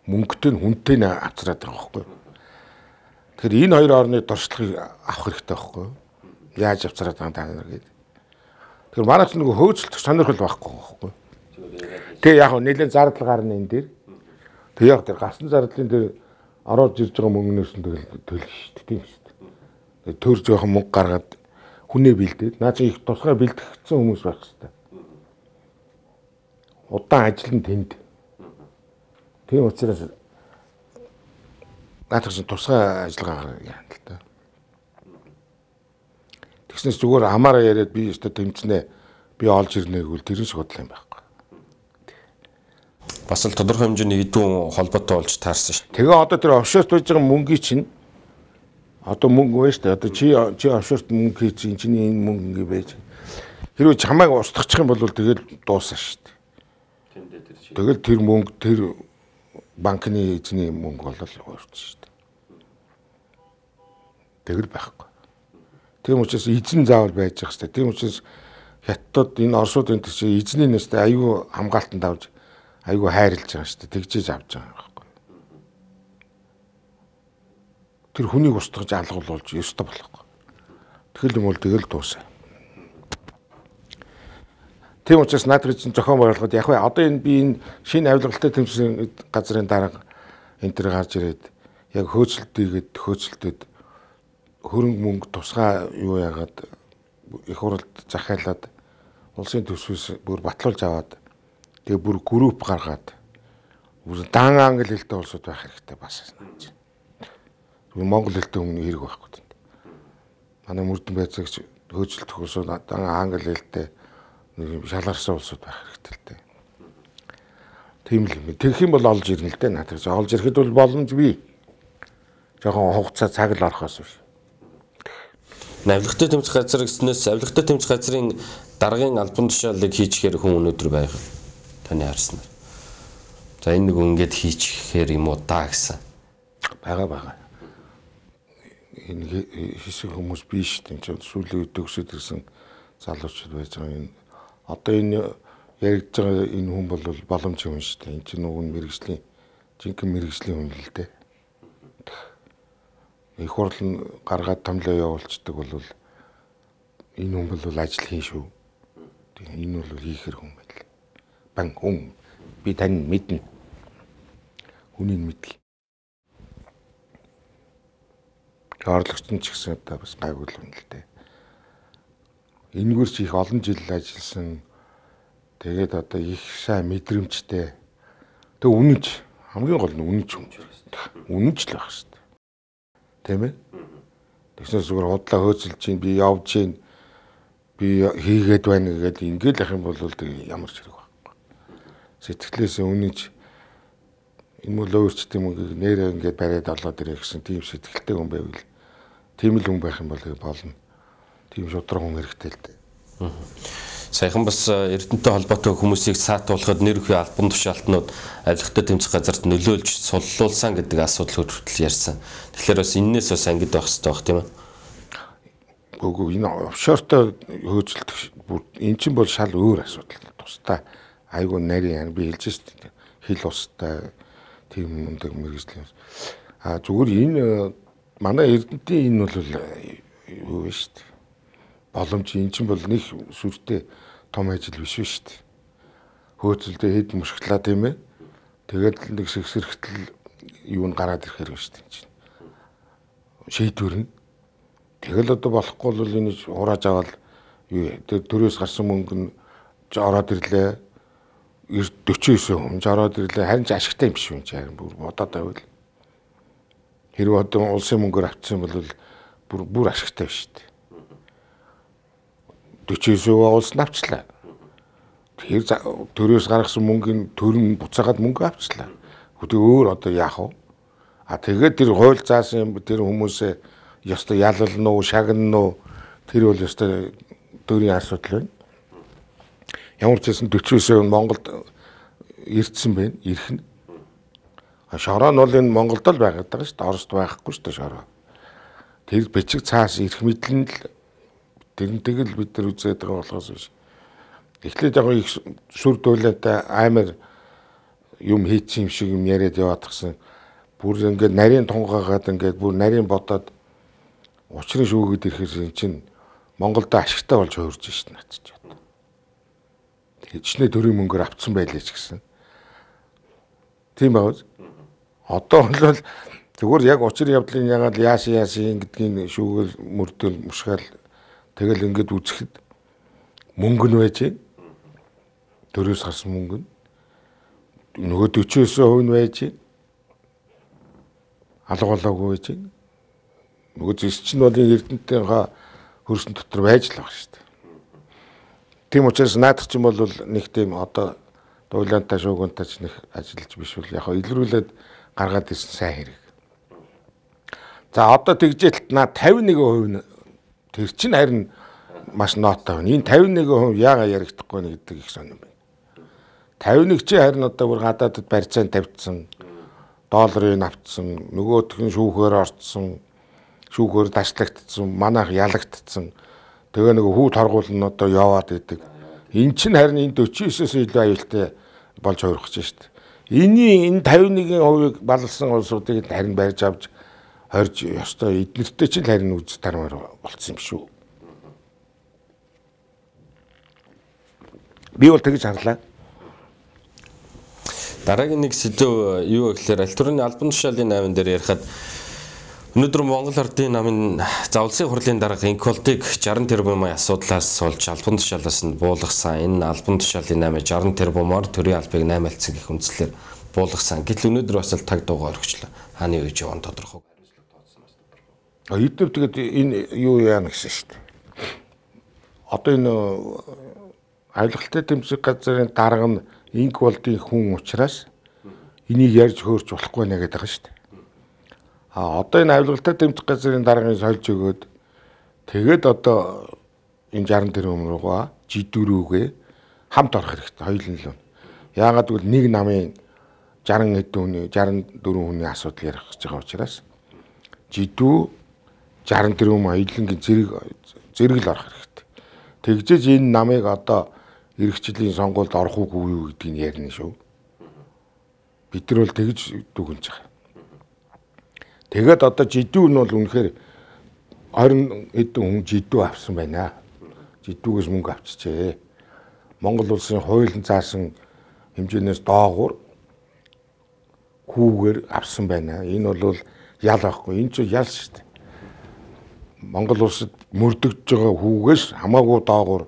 Мөнгөтэй нь хүнтэй нь авцраад байгаа байхгүй. Тэгэхээр энэ хоёр орны дуршлагыг авах хэрэгтэй байхгүй. Яаж авцраад байгаа та нар гэдэг. Тэгэхээр манайч нөгөө хөөцөлдөх сонирхол байхгүй байхгүй. Тэгээ яг нэлээд зардал гарна энэ дээр. Тэг яг тэр гарсан зардлын дээр ороод ирж байгаа мөнгнөөс нь төлөх шүү дээ. Тийм шүү дээ. Төр жоохон мөнгө гаргаад хүнээ бэлдээд наа чи их тусгай бэлтгэгдсэн хүмүүс байх хэрэгтэй. Удаан ажил нь тэнд. Тийм учраас наадах чинь тусгай ажиллагаа яана л да. Тэгснээс зүгээр амаараа яриад би өстө тэмцэнэ би олж ирнэ гэвэл тэрэн шиг бодлоо юм байхгүй. Бас л тодорхой хэмжээний хэдэн холбоотой болж таарсан шүү. Тэгээ одоо тэр офшорт байж байгаа мөнгөний чинь одоо мөнгө байна шүү дээ. Одоо чи офшорт мөнгө хийж чиний энэ мөнгө ингэ байж. Хэрвээ чамайг устгах юм бол тэгэл дуусаа шүү дээ. Тэндээ тэр чи. Тэгэл тэр мөнгө тэр банкны эзний мөнгө болол өөрчлөж шүү дээ. Тэгэл байхгүй. Тийм учраас эзэн заавал байж байгаа шүү дээ. Тийм учраас хятад энэ орсууд энэ чи эзний нэстэй аюу хамгаалтанд авч айгу хайрлаж байгаа шүү дээ. Тэгжээж авч байгаа юм байхгүй. Тэр хүнийг устгаж алгуулж ёстой болохгүй. Тэгэл юм бол тэгэл дуусаа. Тийм учраас наадах чинь зохион байгуулахад яг бай одоо энэ би энэ шинэ авилгалтай тэмцээн газрын дарга энэ төр гарч ирээд яг хөөцөлдөд хөрөнгө мөнгө тусгай юу яагаад их хуралд захиалаад улсын төсвөөс бүр батлуулж аваад тэгээ бүр групп гаргаад бүр дан англи хэлтэй улсууд байх хэрэгтэй бас санаж байна. Монгол хэлтэй өмнө хэрэг байхгүй тийм. Манай мөрдөн байцаагч хөөцөлдөх улсууд дан англи хэлтэй шалгарсан улсууд байх хэрэгтэй л дээ. Тийм л юм. Тэгэх юм бол олж ирнэ л дээ. Наадах олж ирэхэд бол боломж бий. Жохон хугацаа цаг л орохоос биш. Авилгатай тэмцэх газар гэснээс авилгатай тэмцэх газрын даргын албан тушаалыг хийчихээр хүн өнөөдөр байх. Таны харснаар. За энэ нэг ингээд хийчихээр юм уу та гэсэн. Бага. Энэ хэсэг хүмүүс биш тийм ч сүүлийн үед төгсөд ирсэн залуучууд байж байгаа энэ одоо энэ яригдж байгаа энэ хүн бол боломж юм шүү дээ. Энэ чинь нөгөө мэрэгжлийн жинхэнэ мэрэгжлийн хүн л дээ. Их хурл нь гаргаад томлоо явуулцдаг бол энэ хүн бол ажил хийн шүү. Энэ бол хийхэр хүн байл. Бан хүн би тань мэднэ. Хүнийг мэдгий. Орлогч нь ч гэсэн одоо бас гайгүй л юм л дээ. Энэгээр ч их олон жил ажилласан. Тэгээд одоо их сайн мэдрэмжтэй. Тэг үнэнч хамгийн гол нь үнэнч хүн. Үнэнч л байх шүү дээ. Тийм ээ? Тэгснээр зүгээр худлаа хөөцөлж чинь би явж чинь би хийгээд байна гэдэг ингээл ах юм бол ямар ч хэрэг байхгүй. Сэтгэлээсээ үнэнч энэ мөл өөрчлөлт юм нэрээ ингээд бариад олоод ирэх гэсэн тийм сэтгэлтэй хүн байвал тийм л хүн байх юм бол болно. Тийм шудраг хүн хэрэгтэй л дээ. Саяхан бас Эрдэнэтэй холбоотой хүмүүсийг саатуулахад нэр өхөө албан тушаалтнууд авилгатай тэмцэх газарт нөлөөлж суллуулсан гэдэг асуудал хүртэл ярьсан. Тэгэхээр бас энээс бас ангид байх хэрэгтэй байх тийм ээ. Үгүй энэ офшортой хөөцөлдөх бүр эн чинь бол шал өөр асуудал. Тусдаа айгүй нарийн би хэлж шээ. Хил устай тийм мундаг мэрэгжлийн. Зүгээр энэ манай Эрдэнэтийн энэ бол юу вэ шүү дээ. Боломж эн чинь бол нэг сүртэй том ажил биш шүү дээ. Хөөцөлдөө хэд мушглаа тийм ээ. Тэгээд нэг сэгсэрхтэл юу н гараад ирэхээр шүү дээ. Шийдвэр нь. Тэгэл одоо болохгүй бол энэ хурааж аваад юу төрөөс гарсан мөнгө нь ороод ирлээ. 49 хүн ороод ирлээ. Харин ч ашигтай юм биш юм чи харин бүр бодоод байвал. Хэрвээ одоо улсын мөнгөөр авчихсан бол бүр ашигтай биш шүү дээ. 49% улс авчлаа. Тэр төрөөс гаргасан мөнгөний төрн буцаагаад мөнгө авчлаа. Хөтөө өөр одоо яах вэ? Тэгээд тэр хууль заасан юм тэр хүмүүсээ ёстой ялална уу, шагнана уу тэр бол ёстой төрийн асуудал байна. Ямар ч хэсэн 49% Монголд ирдсэн байна. Ирэх нь. Шороо нь бол энэ Монголд л байгаад байгаа шүү дээ. Оросд байхгүй шүү дээ шороо. Тэр бичиг цаас ирэх мэтлэн л тэрнтэйг л бид нар үзээд байгаа болохоос биш. Эхлээд яг их сүр дуулаатай амар юм хийчих юм шиг юм яриад яваад гисэн. Бүр ингээд нарийн тунгаагаад ингээд бүр нарийн бодоод учрын шүүгээд ирэхээр чинь Монголд ашигтай болж хувирж шít нацч бод. Хэчнээ төрийн мөнгөөр авцсан байлээ ч гэсэн. Тийм байгааз. Одоо бол зүгээр яг учрын явдлын ягаад яасан гэдгийг шүүгээл мөрдөл мушгаал тэгэл ингээд үзэхэд мөнгө нь байж байна. Төрөөс гарсан мөнгө нь нөгөө 49% нь байж байна. Алга болоогүй байж байна. Нөгөө зэс чинь бол Эрдэнэтийн хөрсөн дотор байж л байгаа шүү дээ. Тийм учраас наадах чинь бол нэг тийм одоо дуйлаантай шуугиантай ч нэг ажиллаж биш бол яг илрүүлээд гаргаад ирсэн сайн хэрэг. За одоо тэгжээлт наа 51% нь тэр чинь харин маш нооттой байна. Энэ 51% яагаад яригдахгүй нэ гэдэг их сонирм байна. 51 чи харин одоо бүр гадаадд барьцаанд тавьчихсан, долларын авцсан, нөгөөх нь шүүхээр орцсон, шүүхээр ташлагдсан, манайх ялагдсан. Тэгээ нэг хүү торгуул нь одоо яваад идэг. Эн чинь харин энэ 49-оос илүү аюултай болж хувирах гэж шүү дээ. Энэ 51%-ийг баллсан улсуудыг харин барьж авч хорж ёстой эднэртэй ч харин үз тармаар болцсон юм шүү. Би бол тэгж харлаа. Дараагийн нэг сэдв юу гэхээр аль төрний албан тушаалын 8 дээр ярихад өнөөдөр Монгол Ардын намын завлсын хурлын дарга инколтыг 60 тэрбумын асуудлаас олж албан тушаалаас нь буулгасан. Энэ албан тушаалын 8 60 тэрбумаар төрийн албыг 8 гэх үндслээр буулгасан. Гэтэл өнөөдөр бас л таг дуугаа орхичлаа. Хааны үеж яван тодорхой. Эдгээр тэгээд энэ юу яана гэсэн шүү дээ. Одоо энэ авилгалтай тэмцэх газрын дарга нь инколтын хүн учраас энийг ярьж хөөрч болохгүй нэ гэдэг байгаа шүү дээ. Одоо энэ авилгалтай тэмцэх газрын даргыг сольж өгөөд тэгээд одоо энэ 60 тэрбум руугаа жидүүрүүгээ хамт орох хэрэгтэй хоёулын л. Яагаад гэвэл нэг намын 60 хэдэн хүний 64 хүний асуудал ярих гэж байгаа учраас жидүү 60 тэрбум хоёулынгийн зэрэг л орох хэрэгтэй. Тэгжээж энэ намыг одоо эрхчлэлийн сонгуульд орох уугүй юу гэдгийг ярина шүү. Бид нар бол тэгж дүгнэж байгаа. Тэгээд одоо жидүү нь бол үнэхээр 20 хэдэн хүн жидүү авсан байна. Жидүүгээс мөнгө авчижээ. Монгол улсын хуулийн заасан хэмжээнээс доогуур хүүгээр авсан байна. Энэ бол ял байхгүй. Энэ ч ял шүү дээ. Монгол улсад мөрдөгдөж байгаа хүүгээс хамаагүй доогуур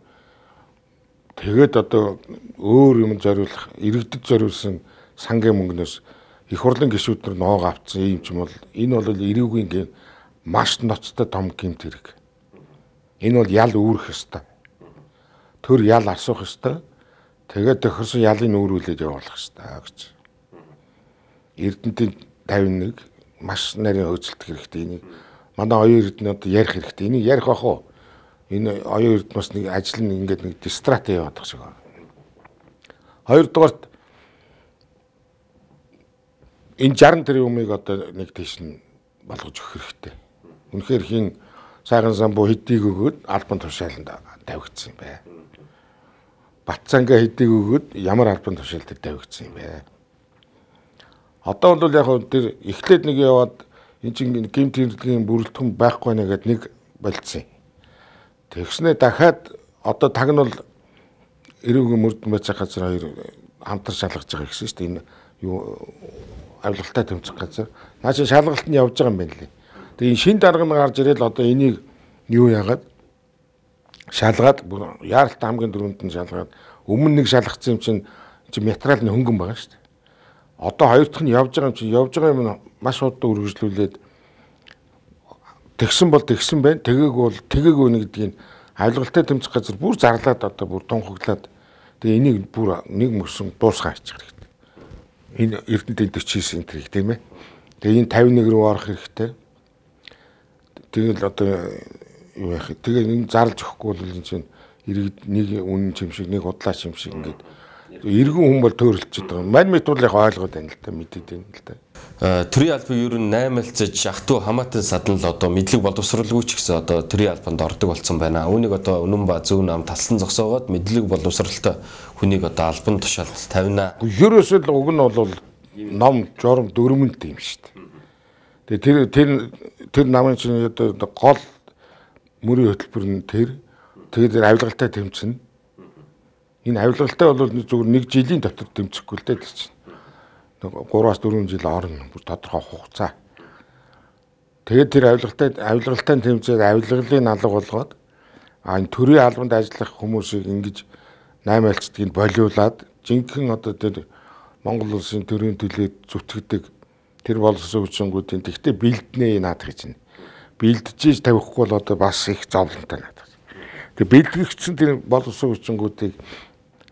тэгээд одоо өөр юм зориулах, иргэдэд зориулсан сангийн мөнгнөөс их хурлын гишүүд нар ноог авцсан юм ч юм бол энэ бол эрүүгийн маш ноцтой том гэмт хэрэг. Энэ бол ял үүрэх ёстой. Төр ял асуух ёстой. Тэгээд тохирсон ялыг нүүрүүлээд явуулах ёстой гэж. Эрдэнэтийн 51 маш нарийн хөөцөлдөх хэрэгтэй. Энийг манай оюун эрдэнэ одоо ярих хэрэгтэй. Энийг ярих ах уу? Энэ оюун эрдэнэ бас нэг ажил нь ингээд нэг дистрат яваад байгаа шиг байна. Хоёрдугаарт энэ 60 тэрбумыг одоо нэг тийш нь болгож өгөх хэрэгтэй. Үнэхээр хин сайхан самбуу хэдийг өгөөд албан тушааланд тавигдсан юм бэ. Батцанга хэдийг өгөөд ямар албан тушаалд тавигдсан юм бэ. Одоо бол яг тэр эхлээд нэг яваад энэ чинь гэмт хэрэглэгийн бүрэлдэхүүн байхгүй нэ гэд нэг болцсон. Тэгснэ дахиад одоо таг нь бол эрүүгийн мөрдөн байцаа газар хоёр хамтар шалгаж байгаа гэсэн шүү дээ. Энэ юу авилгалтай тэмцэх газар. Наач шалгалт нь явж байгаа юм байна лээ. Тэгээ энэ шин дарга нь гарч ирэл одоо энийг юу яагаад шалгаад яаралтай хамгийн дөрөнд нь шалгаад өмнө нэг шалгацсан юм чинь материал нь хөнгөн байгаа шүү дээ. Одоо хоёр дахь нь явж байгаа юм маш удаа үргэлжлүүлээд тэгсэн бол тэгсэн байна. Тэгээгүй нэг гэдгийг авилгалтай тэмцэх газар бүр зарлаад одоо бүр тунхаглаад тэгээ энийг бүр нэг мөсөн дуусгаа хийчих хэрэгтэй. Энэ Эрдэнэтийн 49 энтрийг тийм ээ. Тэгээ энэ 51 рүү орох хэрэгтэй. Тэгэл одоо юу яах вэ? Тэгээ энэ зарлж өгөхгүй бол энэ чинь иргэд нэг үнэн чимшиг нэг удлаа чимшиг ингээд Иргэн хүн бол төөрөлдөж байгаа. Мань мэд бол яг ойлгоод байна л да, мэдээд байна л да. Төрийн албан ер нь 8-алцаж ахтуу хамаатан садан л одоо мэдлэг боловсруулгүй ч гэсэн одоо төрийн албанд ордог болсон байна. Үүнийг одоо үнэн ба зөв нам талсан зогсоогоод мэдлэг боловсралтай хүнийг одоо албан тушаалд тавина. Ерөөсөө л уг нь бол ном журам дөрмөнт юм шүү дээ. Тэгээ тэр намын чинь одоо гол мөрийн хөтөлбөр нь тэгээд авилгалтай тэмцэнэ. Энэ авилгалтай бол зөвхөн 1 жилийн дотор тэмцэхгүй л дээ чинь. 3-4 жил орно бүр тодорхой хугацаа. Тэгээд тэр авилгалтай тэмцээд авилгалын алга болгоод энэ төрийн албанд ажиллах хүмүүсийг ингэж 8 альцдгийг болиулаад жинхэнэ одоо тэр Монгол улсын төрийн төлөө зүтгэдэг тэр боловсон хүчингүүдийн тэгтээ бэлднэ наадах гэж байна. Бэлдэж тавихгүй бол одоо бас их зовлонтой наадах. Тэгээд бэлтгэгдсэн тэр боловсон хүчингүүдийг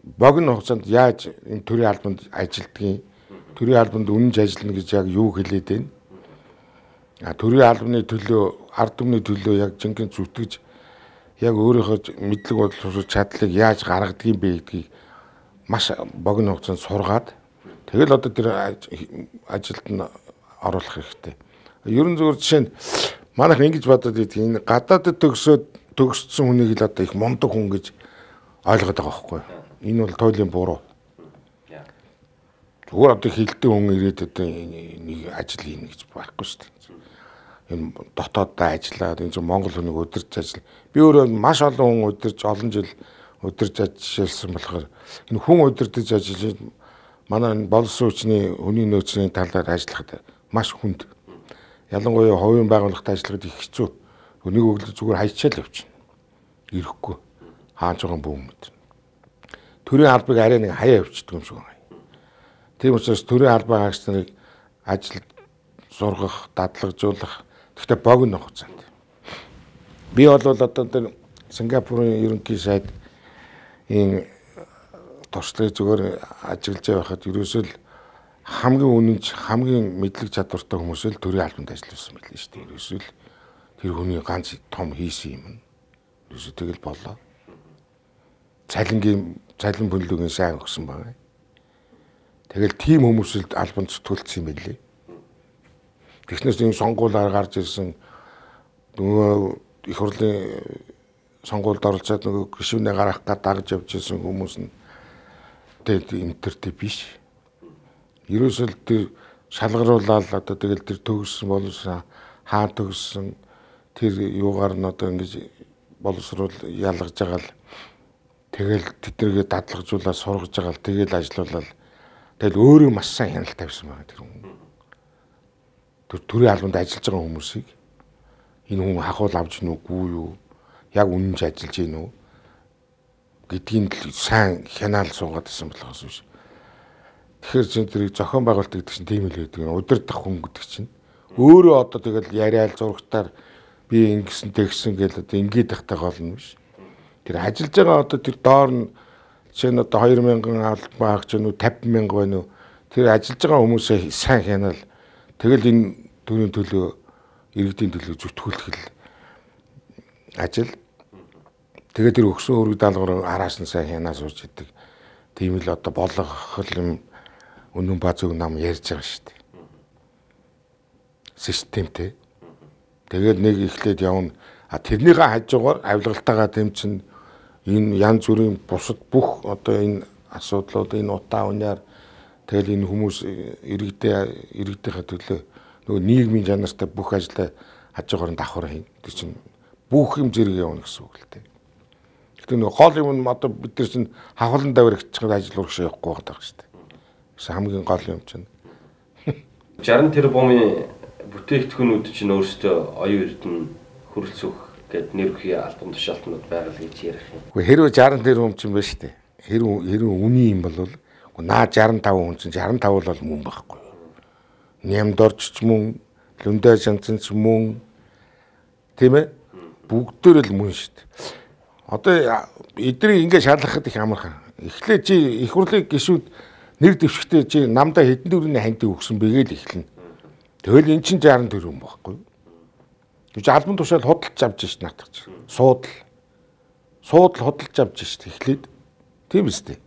богино хугацаанд яаж энэ төрийн албанд ажилдгийг төрийн албанд үнэнж ажиллана гэж яг юу хэлээд байна? Төрийн албаны төлөө, ард түмний төлөө яг жинхэнэ зүтгэж яг өөрийнхөө мэдлэг боловсруулах чадлыг яаж гаргадгийг бэ гэдгийг маш богино хугацаанд сургаад тэгэл одоо тэр ажилд нь оруулах хэрэгтэй. Ерөн зөвхөн жишээ нь манайх ингэж бодоод идэх энэ гадаадд төгссөн хүнийг л одоо их мундаг хүн гэж ойлгоод байгаа байхгүй юу? Энэ бол туйлын буруу. Зүгээр одоо хилдэг хүн ирээд одоо нэг ажил хийнэ гэж байхгүй шүү дээ. Энэ дотооддоо ажиллаад энэ Монгол хүнийг удирж ажил. Би өөрөө маш олон хүн удирж олон жил удирж ажилласан болохоор энэ хүн удирдах ажиллаж манай боловсон хүчний хүний нөөцийн талаар ажиллахад маш хүнд. Ялангуяа хувийн байгууллагад ажиллахад их хэцүү. Нэг өглөө зүгээр хайчаал явчихна. Ирэхгүй. Хааж байгаа бүүмэд. Төрийн албыг арай нэг хаяа явчихдаг юм шиг байна. Тийм учраас төрийн албан хаагч нарыг ажилд сургах, дадлагжуулах гэхдээ богино хугацаанд. Би бол одоо тэр Сингапурын ерөнхий сайд энэ туршлагыг зүгээр ажиглаж байхад ерөөсөө л хамгийн үнэнч, хамгийн мэдлэг чадвартай хүмүүсэл төрийн албанд ажилласан байлээ шүү дээ. Ерөөсөө л тэр хүний ганц том хийсэн юм. Ерөөсөө тэгэл болоо. Цалин бүлэгийн сайн өгсөн байна. Тэгэл тийм хүмүүсэлд албанд зүтгүүлсэн юм байлээ. Тэгснээс энэ сонгуулиар гарч ирсэн нөгөө их хурлын сонгуульд оролцоод нөгөө гишүүнээ гаргах гээд дагж явж ирсэн хүмүүс нь тэгээд интертэй биш. Ерөөсөө тэр шалгаруулаад одоо тэгэл тэр төгссөн боловсон хаан төгссөн тэр юугаар нь одоо ингэж боловсруул ялгаж байгаа л тэгэл тэднэргээ дадлагжуулаад сургаж байгаа л тэгэл ажиллаулаад тэгэл өөрөө маш сайн хяналт тавьсан байна тэр хүн. Тэр төрийн албанд ажиллаж байгаа хүмүүсийг энэ хүн хахуул авч гин үгүй юу? Яг үнэнч ажиллаж гин үү? Гэдгийг сайн хянаал суугаад байсан болохоос биш. Тэгэхээр чинь тэрийг зохион байгуулалт гэдэг чинь тийм л байдаг. Удирдах хүн гэдэг чинь өөрөө одоо тэгэл яриад зургатаар би ингэсэн тэгсэн гэл одоо ингээд тахтай гол нь биш. Тэр ажиллаж байгаа одоо тэр доор нь чинь одоо 2000 албан хаагч нь 50,000 байна уу? Тэр ажиллаж байгаа хүмүүсээ сайн хянаал тэгэл энэ төрийн төлөө иргэдийн төлөө зүтгүүлэх ажил. Тэгээд тэр өгсөн өргөд даалгавар араас нь сайн хянаа сууж идэг. Тийм л одоо болгох юм үнэн ба зөв нам ярьж байгаа шүү дээ. Системтэй. Тэгээд нэг ихлээд явна. Тэрнийхээ хажуугаар авилгалтайгаа тэмцэн энэ янз бүрийн бусад бүх одоо энэ асуудлууд энэ утаа униар тэгэл энэ хүмүүс иргэдийнхээ төлөө нөгөө нийгмийн чанартай бүх ажлаа хажуугаар нь давхар хийн. Тэр чинь бүх юм зэрэг явна гэсэн үг л дээ. Гэтэ нөгөө гол юм нь одоо бид нар чинь хавхлан давирагчдаг ажил урагш явахгүй байгаа шүү дээ. Гэсэн хамгийн гол юм чинь 60 тэрбумын бүтээгдэхүүнүүд чинь өөрсдөө оюун эрдэнэ хөрөлцөх гэд нэр бүхий албан тушаалтнууд байгаа л гэж ярих юм. Гэхдээ хэрвээ 60 тэрбум чинь байна шүү дээ. Хэрвээ үний юм бол наа 65 хүн чинь 65 бол мөн байхгүй. Нямдорч ч мөн, лүндэ шанцэн ч мөн тийм ээ? Бүгдээр л мөн шүү дээ. Одоо эднийг ингэ шалгахад их амархан. Эхлээд чи их хурлын гишүүд нэр дэвшигтэй чи намдаа хэдэн дөрөвний хандыг өгсөн бэ гэж эхэлнэ. Тэгэл эн чинь 60 тэрбум байхгүй. Гэж албан тушаал худалдаж авч шít наатах чинь. Суудал худалдаж авч шít эхлээд. Тийм үстэй.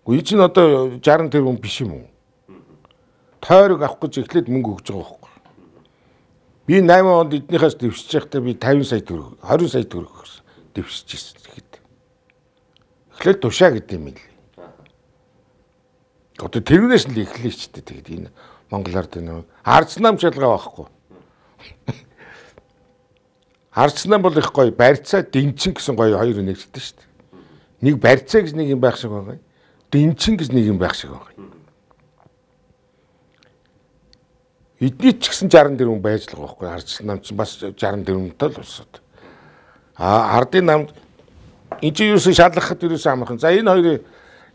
Үе чинь одоо 60 тэрбум биш юм уу? Тойрог авах гэж эхлээд мөнгө өгж байгаа байхгүй. Би 8 онд эднийхээс дэвшиж байхдаа би 50 сая төгрөг, 20 сая төгрөг дэвшиж ирсэн гэхэд. Эхлээд тушаа гэдэг юм л. Одоо тэрнээс л эхлэе ч тэгээд энэ Монголоор тэр арц нам шалгаа байхгүй. Арц нам бол их гоё барьцаа дэнчин гэсэн гоё хоёр нэгдсэн шүү дээ. Нэг барьцаа гэж нэг юм байх шиг байгаа. Дэнчин гэж нэг юм байх шиг байгаа. Эдний ч гэсэн 60 тэрбум байж л байгаа байхгүй. Арц нам ч бас 60 тэрбумтай л усаад. Ардын намд энэ чинь юусэн шалгахад юусэн амархан. За энэ хоёрын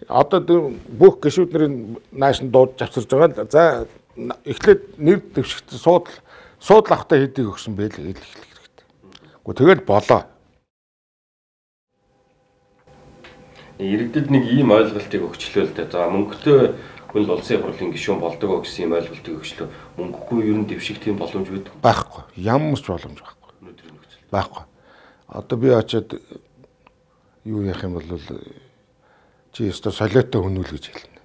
одоо бүх гишүүднэрийн нааш нь дууд завсарж байгаа. За эхлээд нэр дэвшигт суудл авахтаа хэдийг өгсөн бэ л хэлэх хэрэгтэй. Гэхдээ тэгэл болоо. Иргэдэд нэг ийм ойлголтыг өгчлөө л дээ. За мөнгөтэй хүн улсын хурлын гишүүн болдог гэсэн ийм ойлголтыг өгчлөө. Мөнгөгүй ер нь дэвших тийм боломж байхгүй. Ямар ч боломж байхгүй. Өнөөдрийн нөхцөл. Байхгүй. Одоо би очиод юу яах юм бол чи өстө солиотой хүнүүл гэж хэлнэ.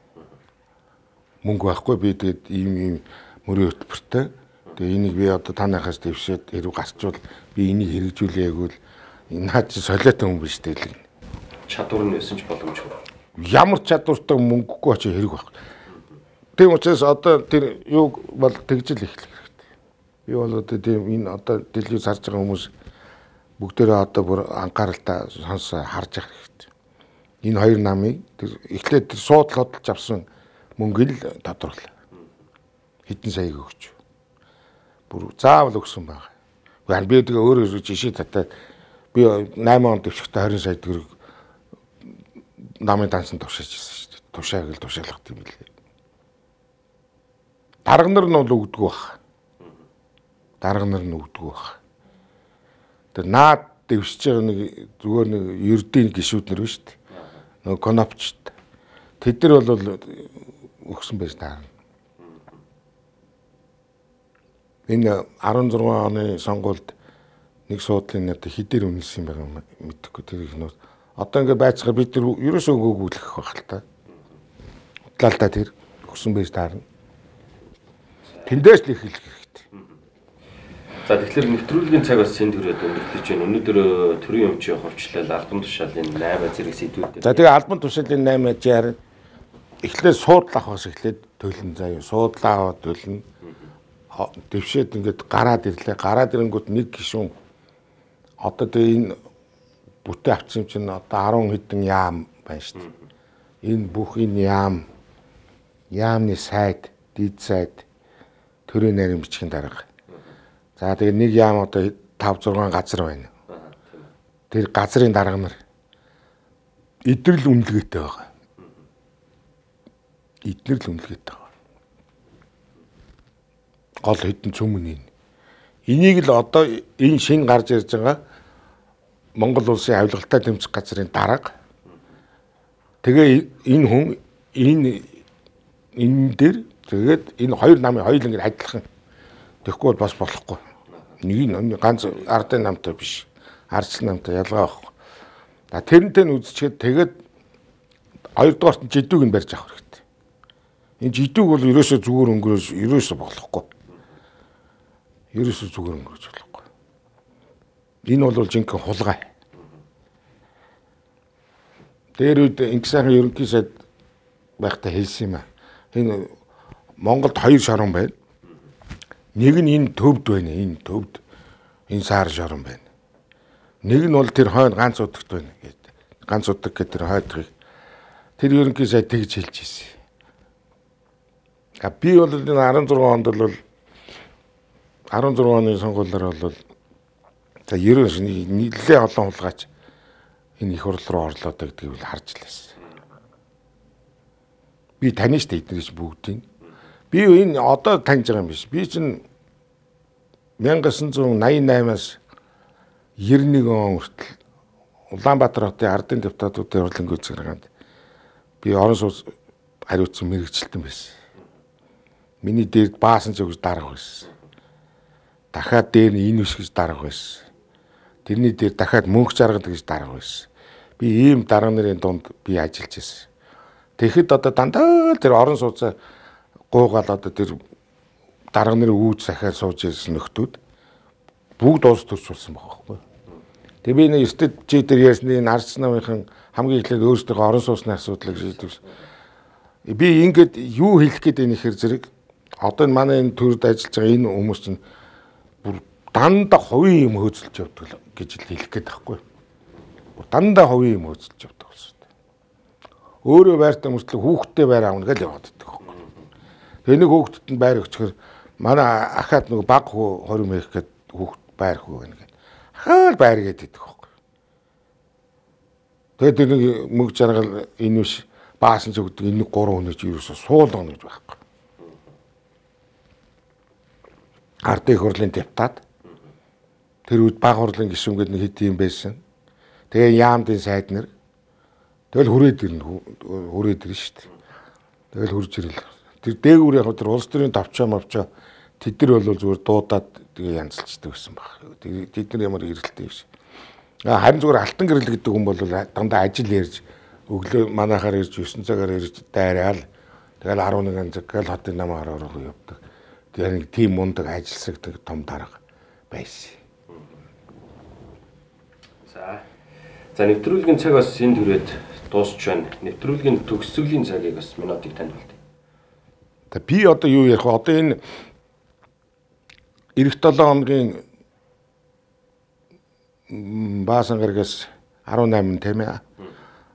Мөнгө байхгүй би тэгээд ийм мөрийн хөтөлбөртэй. Тэгээ энийг би одоо танахаас дэвшээд хэрэг гарчвал би энийг хэрэгжүүлээ гэвэл наад чи солиотой хүн биш дээ. Чадвар нь байсан ч боломжгүй. Ямар чадвартай мөнгөгүй очиж хэрэг байх. Тийм учраас одоо тэр юу бол тэгжил эхлэх хэрэгтэй. Би бол одоо тийм энэ одоо телевиз харж байгаа хүмүүс бүгдээрээ одоо бүр анхааралтай харж явах хэрэгтэй. Энэ хоёр намыг тэр эхлээд тэр суудлал хөдөлж авсан мөнгө л тодруулаа. Хэдэн саяг өгч. Бүр заавал өгсөн байгаа. Би тэгээ өөрөө жишээ татаад би 8 он дэвшигтээ 20 сая төгрөг намын дансан тушааж ирсэн шүү дээ. Тушааг л тушаалгах юм билээ. Дарга нар нь бол өгдөг баг. Дарга нар нь өгдөг баг. Тэр наад дэвшиж байгаа нэг зүгээр нэг ердийн гишүүд нар биш үү? Нөгөө конопчт. Тэд нар бол өгсөн байж таарна. Энэ 16 оны сонгуульд нэг суудлын одоо хэдээр үнэлсэн юм байгаа мэдэхгүй тэр их нөө. Одоо ингээд байцгаа бид нар ерөөсөө өгөөгүүлэх байх л та. Утлаалтаа тэр өгсөн байж таарна. Тэндээс л их хэлэх хэрэгтэй. За тэгэхээр нэвтрүүлгийн цаг бас сэн төрөд өндөрлөж байна. Өнөөдөр төрийн өмчийн ховчлол албан тушаалын 8 зэрэг сэдвүүд. За тэгээ албан тушаалын 8 жаар эхлээд суудлаа авахаас эхлээд төлн заяа. Суудлаа аваад төлн дэвшээд ингээд гараад ирлээ. Гараад ирэнгүүт нэг гишүүн одоо тэгээ энэ бүтээ авчихсан чинь одоо 10 хэдэн яам байна шүү дээ. Энэ бүх энэ яамны сайд, дид сайд төрийн нарийн бичгийн дарга. За тэгээ нэг яам одоо 5 6 газар байна. Тэр газрын дарга нар эдгэрл үнэлгээтэй байгаа. Эдгэрл үнэлгээтэй байгаа. Гол хэдэн цөмөн энийг л одоо энэ шин гарч ирж байгаа Монгол улсын авилгалтай тэмцэх газрын дарга. Тэгээ энэ хүн энэ дээр тэгээд энэ хоёр намын хоёул ингэ адилхан тэгэхгүй бол бас болохгүй. Нэг нь ганц ардын намтай биш. Ардчлан намтай ялгаа байхгүй. За тэрнтэй нь үзчихэд тэгээд хоёрдугаарт нь жидүүг нь барьж авах хэрэгтэй. Энэ жидүүг бол ерөөсөө зүгээр өнгөрөөж ерөөсөө болохгүй. Ерөөсөө зүгээр өнгөрөөж болохгүй. Энэ бол жинхэнэ хулгай. Тэр үед Инксайхан ерөнхий сайд байхдаа хэлсэн юм аа. Энэ Монголд хоёр шорон байна. Нэг нь энэ төвд байна. Энэ төвд энэ саар шорон байна. Нэг нь бол тэр хойно ганц удагт байна гэдэг. Ганц удаг гэдэг тэр хойдгийг тэр ерөнхий сайд тэгж хэлж ирсэн. Би бол энэ 16 онд бол 16 оны сонгуулиар бол за 90 нэлээ олон хулгайч энэ их хурл руу орлоо гэдгийг л харж лээс. Би тань штэ эднэрч бүгдийг. Би энэ одоо таньж байгаа юм биш. Би чинь 1988-аас 91 он хүртэл Улаанбаатар хотын ардын депутатуудын хурлын гүйцэтгэрганд би орон сууц хариуцсан мэрэгчлэлтэн байсан. Миний дээр баасан ч өгж дарга байсан. Дахиад дээр нь энэ биш гэж дарга байсан. Тэрний дээр дахиад мөнх жаргал гэж дарга байсан. Би ийм дарга нарын дунд би ажиллаж байсан. Тэгэхэд одоо дандаа тэр орон сууцаа гуугаал одоо тэр дарга нарын үүж захиад сууж ирсэн нөхдүүд бүгд улс төрч болсон байхгүй. Тэгээ би нэг эртэд чи дээр ярьсны Арц намынхан хамгийн эхлээд өөрсдөө орон сууцны асуудлыг шийдвэрсэн. Би ингээд юу хэлэх гээд байна ихэр зэрэг одоо энэ манай энэ төрд ажиллаж байгаа энэ хүмүүс чинь бүр дандаа хувийн юм хөөцөлж явдаг гэж хэлэх гээд байхгүй. Дандаа хувийн юм хөөцөлж явдаг болсон. Өөрөө байртаа мөртлөө хүүхдтэй байр аавна гэж яваад байдаг байхгүй. Тэгээ нэг хүүхдэд нь байр өгчхөр манай ахаад нэг баг хүү 20 мэх гээд хүүхд байр хүү гэнэ. Ахаал байр гээд идэх байхгүй. Тэгээд тэр нэг мөг жаргал энэ биш баасан ч өгдөг энэ 3 хүнийч ерөөсө суулгана гэж байхгүй. Ард их хурлын депутат тэр үед баг хурлын гишүүн гэдэг нэг хэд юм байсан. Тэгээ яамдын сайд нар тэгэл хүрээд ирнэ шүү дээ. Тэгэл хурж ирэл. Тэр дээгүүр яг тэр улс төрийн товчоо мовчоо тэд нар бол зүгээр дуудаад тэгээ янзлцдаг байсан баг. Тэд нар ямар ирэлттэй биш. Харин зүгээр алтан гэрэл гэдэг хүн бол дандаа ажил ярьж өглөө манайхаар ирж 9 цагаар ирж дайраал тэгэл 11 цаг гэл хотын намаар орох явдаг. Тэгээ нэг тийм мундаг ажилсагдаг том дарга байсан. За нэвтрүүлгийн цаг бас энд хүрээд дуусч байна. Нэвтрүүлгийн төгсгөлийн цагийг бас минутыг танд болтё. Би одоо юу ярих вэ? Одоо энэ эх 7 хоногийн баасан гарагаас 18 тийм ээ.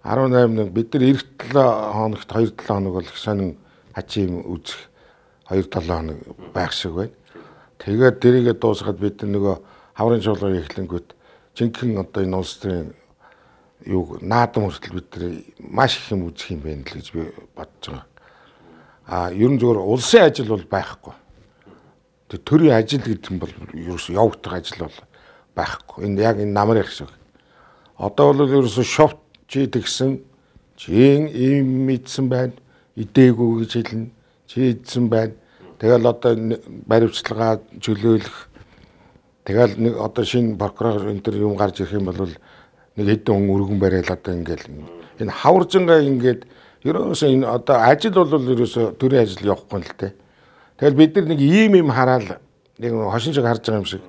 18 бид нар эх 7 хоногт 2-7 хоног бол их сонин хачим үзэх 2-7 хоног байх шиг байна. Тэгээд дэрийгээ дуусгаад бид нөгөө хаврын чуулганы эхлэнгүүт жинхэнэ одоо энэ улс төрийн юу наадам хүртэл бид нар маш их юм үзэх юм байна л гэж би бодож байгаа. Ерөн зөвөр улсын ажил бол байхгүй. Тэр төрийн ажил гэдэг нь бол ерөөсөө явагдах ажил бол байхгүй. Энэ яг энэ намрын шиг. Одоо бол ерөөсөө шовт чи тэгсэн чи ийм мэдсэн байна. Идээгүй гэж хэлнэ. Чи идсэн байна. Тэгэл одоо баримтчилгаа чөлөөлөх. Тэгэл нэг одоо шинэ прокурор энэ төр юм гарч ирэх юм бол нэг хэдэн хүн өргөн барайл одоо ингээл энэ хаваржингаа ингээд ерөөсөө энэ одоо ажил бол ерөөсөө төрийн ажил явахгүй л дээ. Тэгэл бид нар нэг ийм хараад нэг хошин шиг харж байгаа юм шиг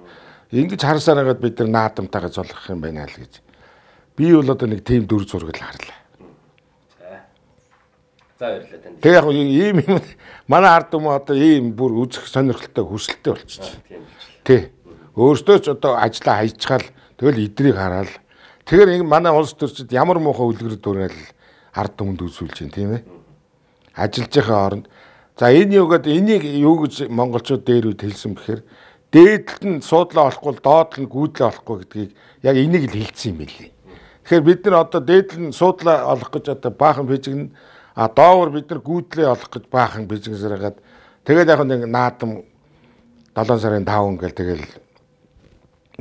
ингэж харсаар хагаад бид нар наадамтайгаа золгох юм байна л гэж. Би бол одоо нэг тийм дүр зураг л харлаа. За баярлалаа танд. Тэг яг ийм юм манай ард хүмүүс одоо ийм бүр үзэх сонирхолтой хүсэлтэй болчихсон. Тий. Өөртөө ч одоо ажиллаа хайчгаал тэгэл идрийг хараад тэгэхээр манай улс төрчид ямар муухай үлгэр дуурайл ард түмэнд үзүүлж байна тийм ээ. Ажиллаж байгаа хооронд за энэ юугаад энийг юу гэж монголчууд дээр үед хэлсэн бэхээр дээдлэлт нь суудлаа олохгүй доотлол нь гүйдлээ олохгүй гэдгийг яг энийг л хэлсэн юм билий. Тэгэхээр бид нар одоо дээдлэл нь суудлаа олох гэж одоо баахан бижигнэ доовор бид нар гүйдлээ олох гэж баахан бижигнэсээр хагаад тэгээд яг нэг наадам 7 сарын 5 ингээл тэгэл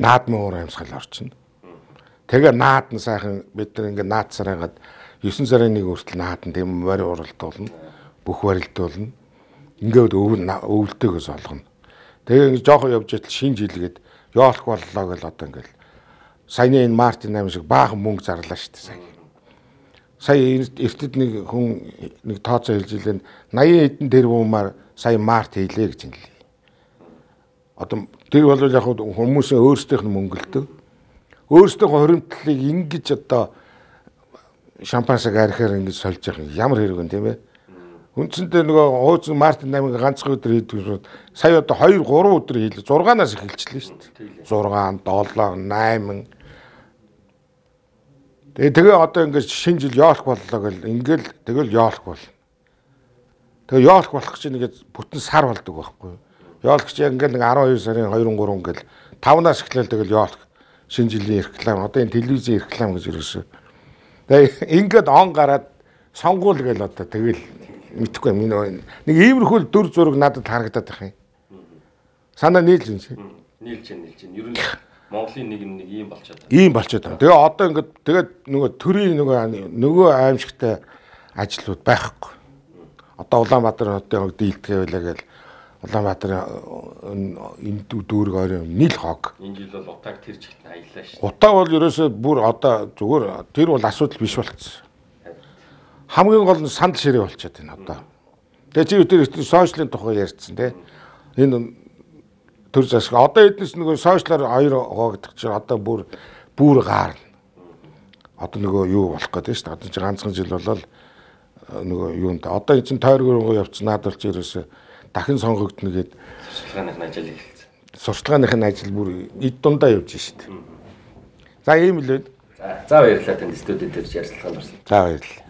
наадмын уур амьсгал орчихно. Тэгээ наадна сайхан бид нар ингээд наадсаар хагаад 9 сарын 1 хүртэл наадна тийм морь уралдуулна. Бүх барилдуулна. Ингээд өвөлдөөгөөс олгоно. Тэгээ ингээд жоохон явж итэл шинэ жилгээд яолох боллоо гэл одоо ингээд саяны энэ Мартин 8 шиг баахан мөнгө зарлаа шүү дээ сая. Сая эртэд нэг хүн нэг тооцоо хэлж илэн 80 хэдэн тэрбумаар сая Март хийлээ гэж хэллээ. Одоо тэр бол яг хүмүүсийн өөрсдийнх нь мөнгө л дөө. Өөрсдийнхөө хоримтлалыг ингэж одоо шампансаг арихаар ингэж сольж явах ямар хэрэг вэ тийм ээ. Үндсэндээ нөгөө хууц Мартин 8-ыг ганцхан өдөр хийдэг. Сая одоо 2 3 өдөр хийлээ. 6-наас эхэлчихлээ шүү дээ. 6 7 8 Тэгээ одоо ингэж шинэ жил яолох боллоо гэл ингээл тэгэл яолох болно. Тэгээ яолох болох чинь ингээд бүтэн сар болдог байхгүй юу? Яолох чинь ингээл нэг 12 сарын 2 3 гэл 5-наас эхлээл тэгэл яолох шинэ жилийн реклам одоо энэ телевизийн реклам гэж ерөөсөө. Тэгээ ингээд он гараад сонгуул гэл одоо тэгэл мэдхгүй юм. Нэг иймэрхүү дүр зураг надад харагдаад байх юм. Санаа нийлж байна чи. Нийлж байна. Ер нь Монголын нэг ийм болчиход байна. Ийм болчиход байна. Тэгээ одоо ингээд тэгээд нөгөө төрийн нөгөө аимшигтай ажлууд байхгүй. Одоо Улаанбаатар хотын дийлдэгэ байлаа гэл Улаанбаатарын энэ дүүрэг орой нийл хог. Энэ жил бол утааг тэр чигт аяллаа шүү. Утаа бол ерөөсөө бүр одоо зүгээр тэр бол асуудал биш болчихсон. хамгийн гол нь сандал ширээ болчиход байна одоо. Тэгээ чи өдөр сошиалын тухай ярьцсан тий. Энэ төр засаг одоо эднес нөгөө сошиалаар 2 гоогдох чинь одоо бүр гаарна. Одоо нөгөө юу болох гэдэг шүү дээ. Одоо чи ганцхан жил болол нөгөө юунд одоо энэ чинь тойргоо явцсан наадвалж ерөөсө дахин сонгогдно гэд Сурталгааныхын ажил эхэлсэн. Сурталгааныхын ажил бүр эд дундаа явж шүү дээ. За ийм л байна. За баярлалаа танд студид төрж ярилцлаганд орсон. За баярлалаа.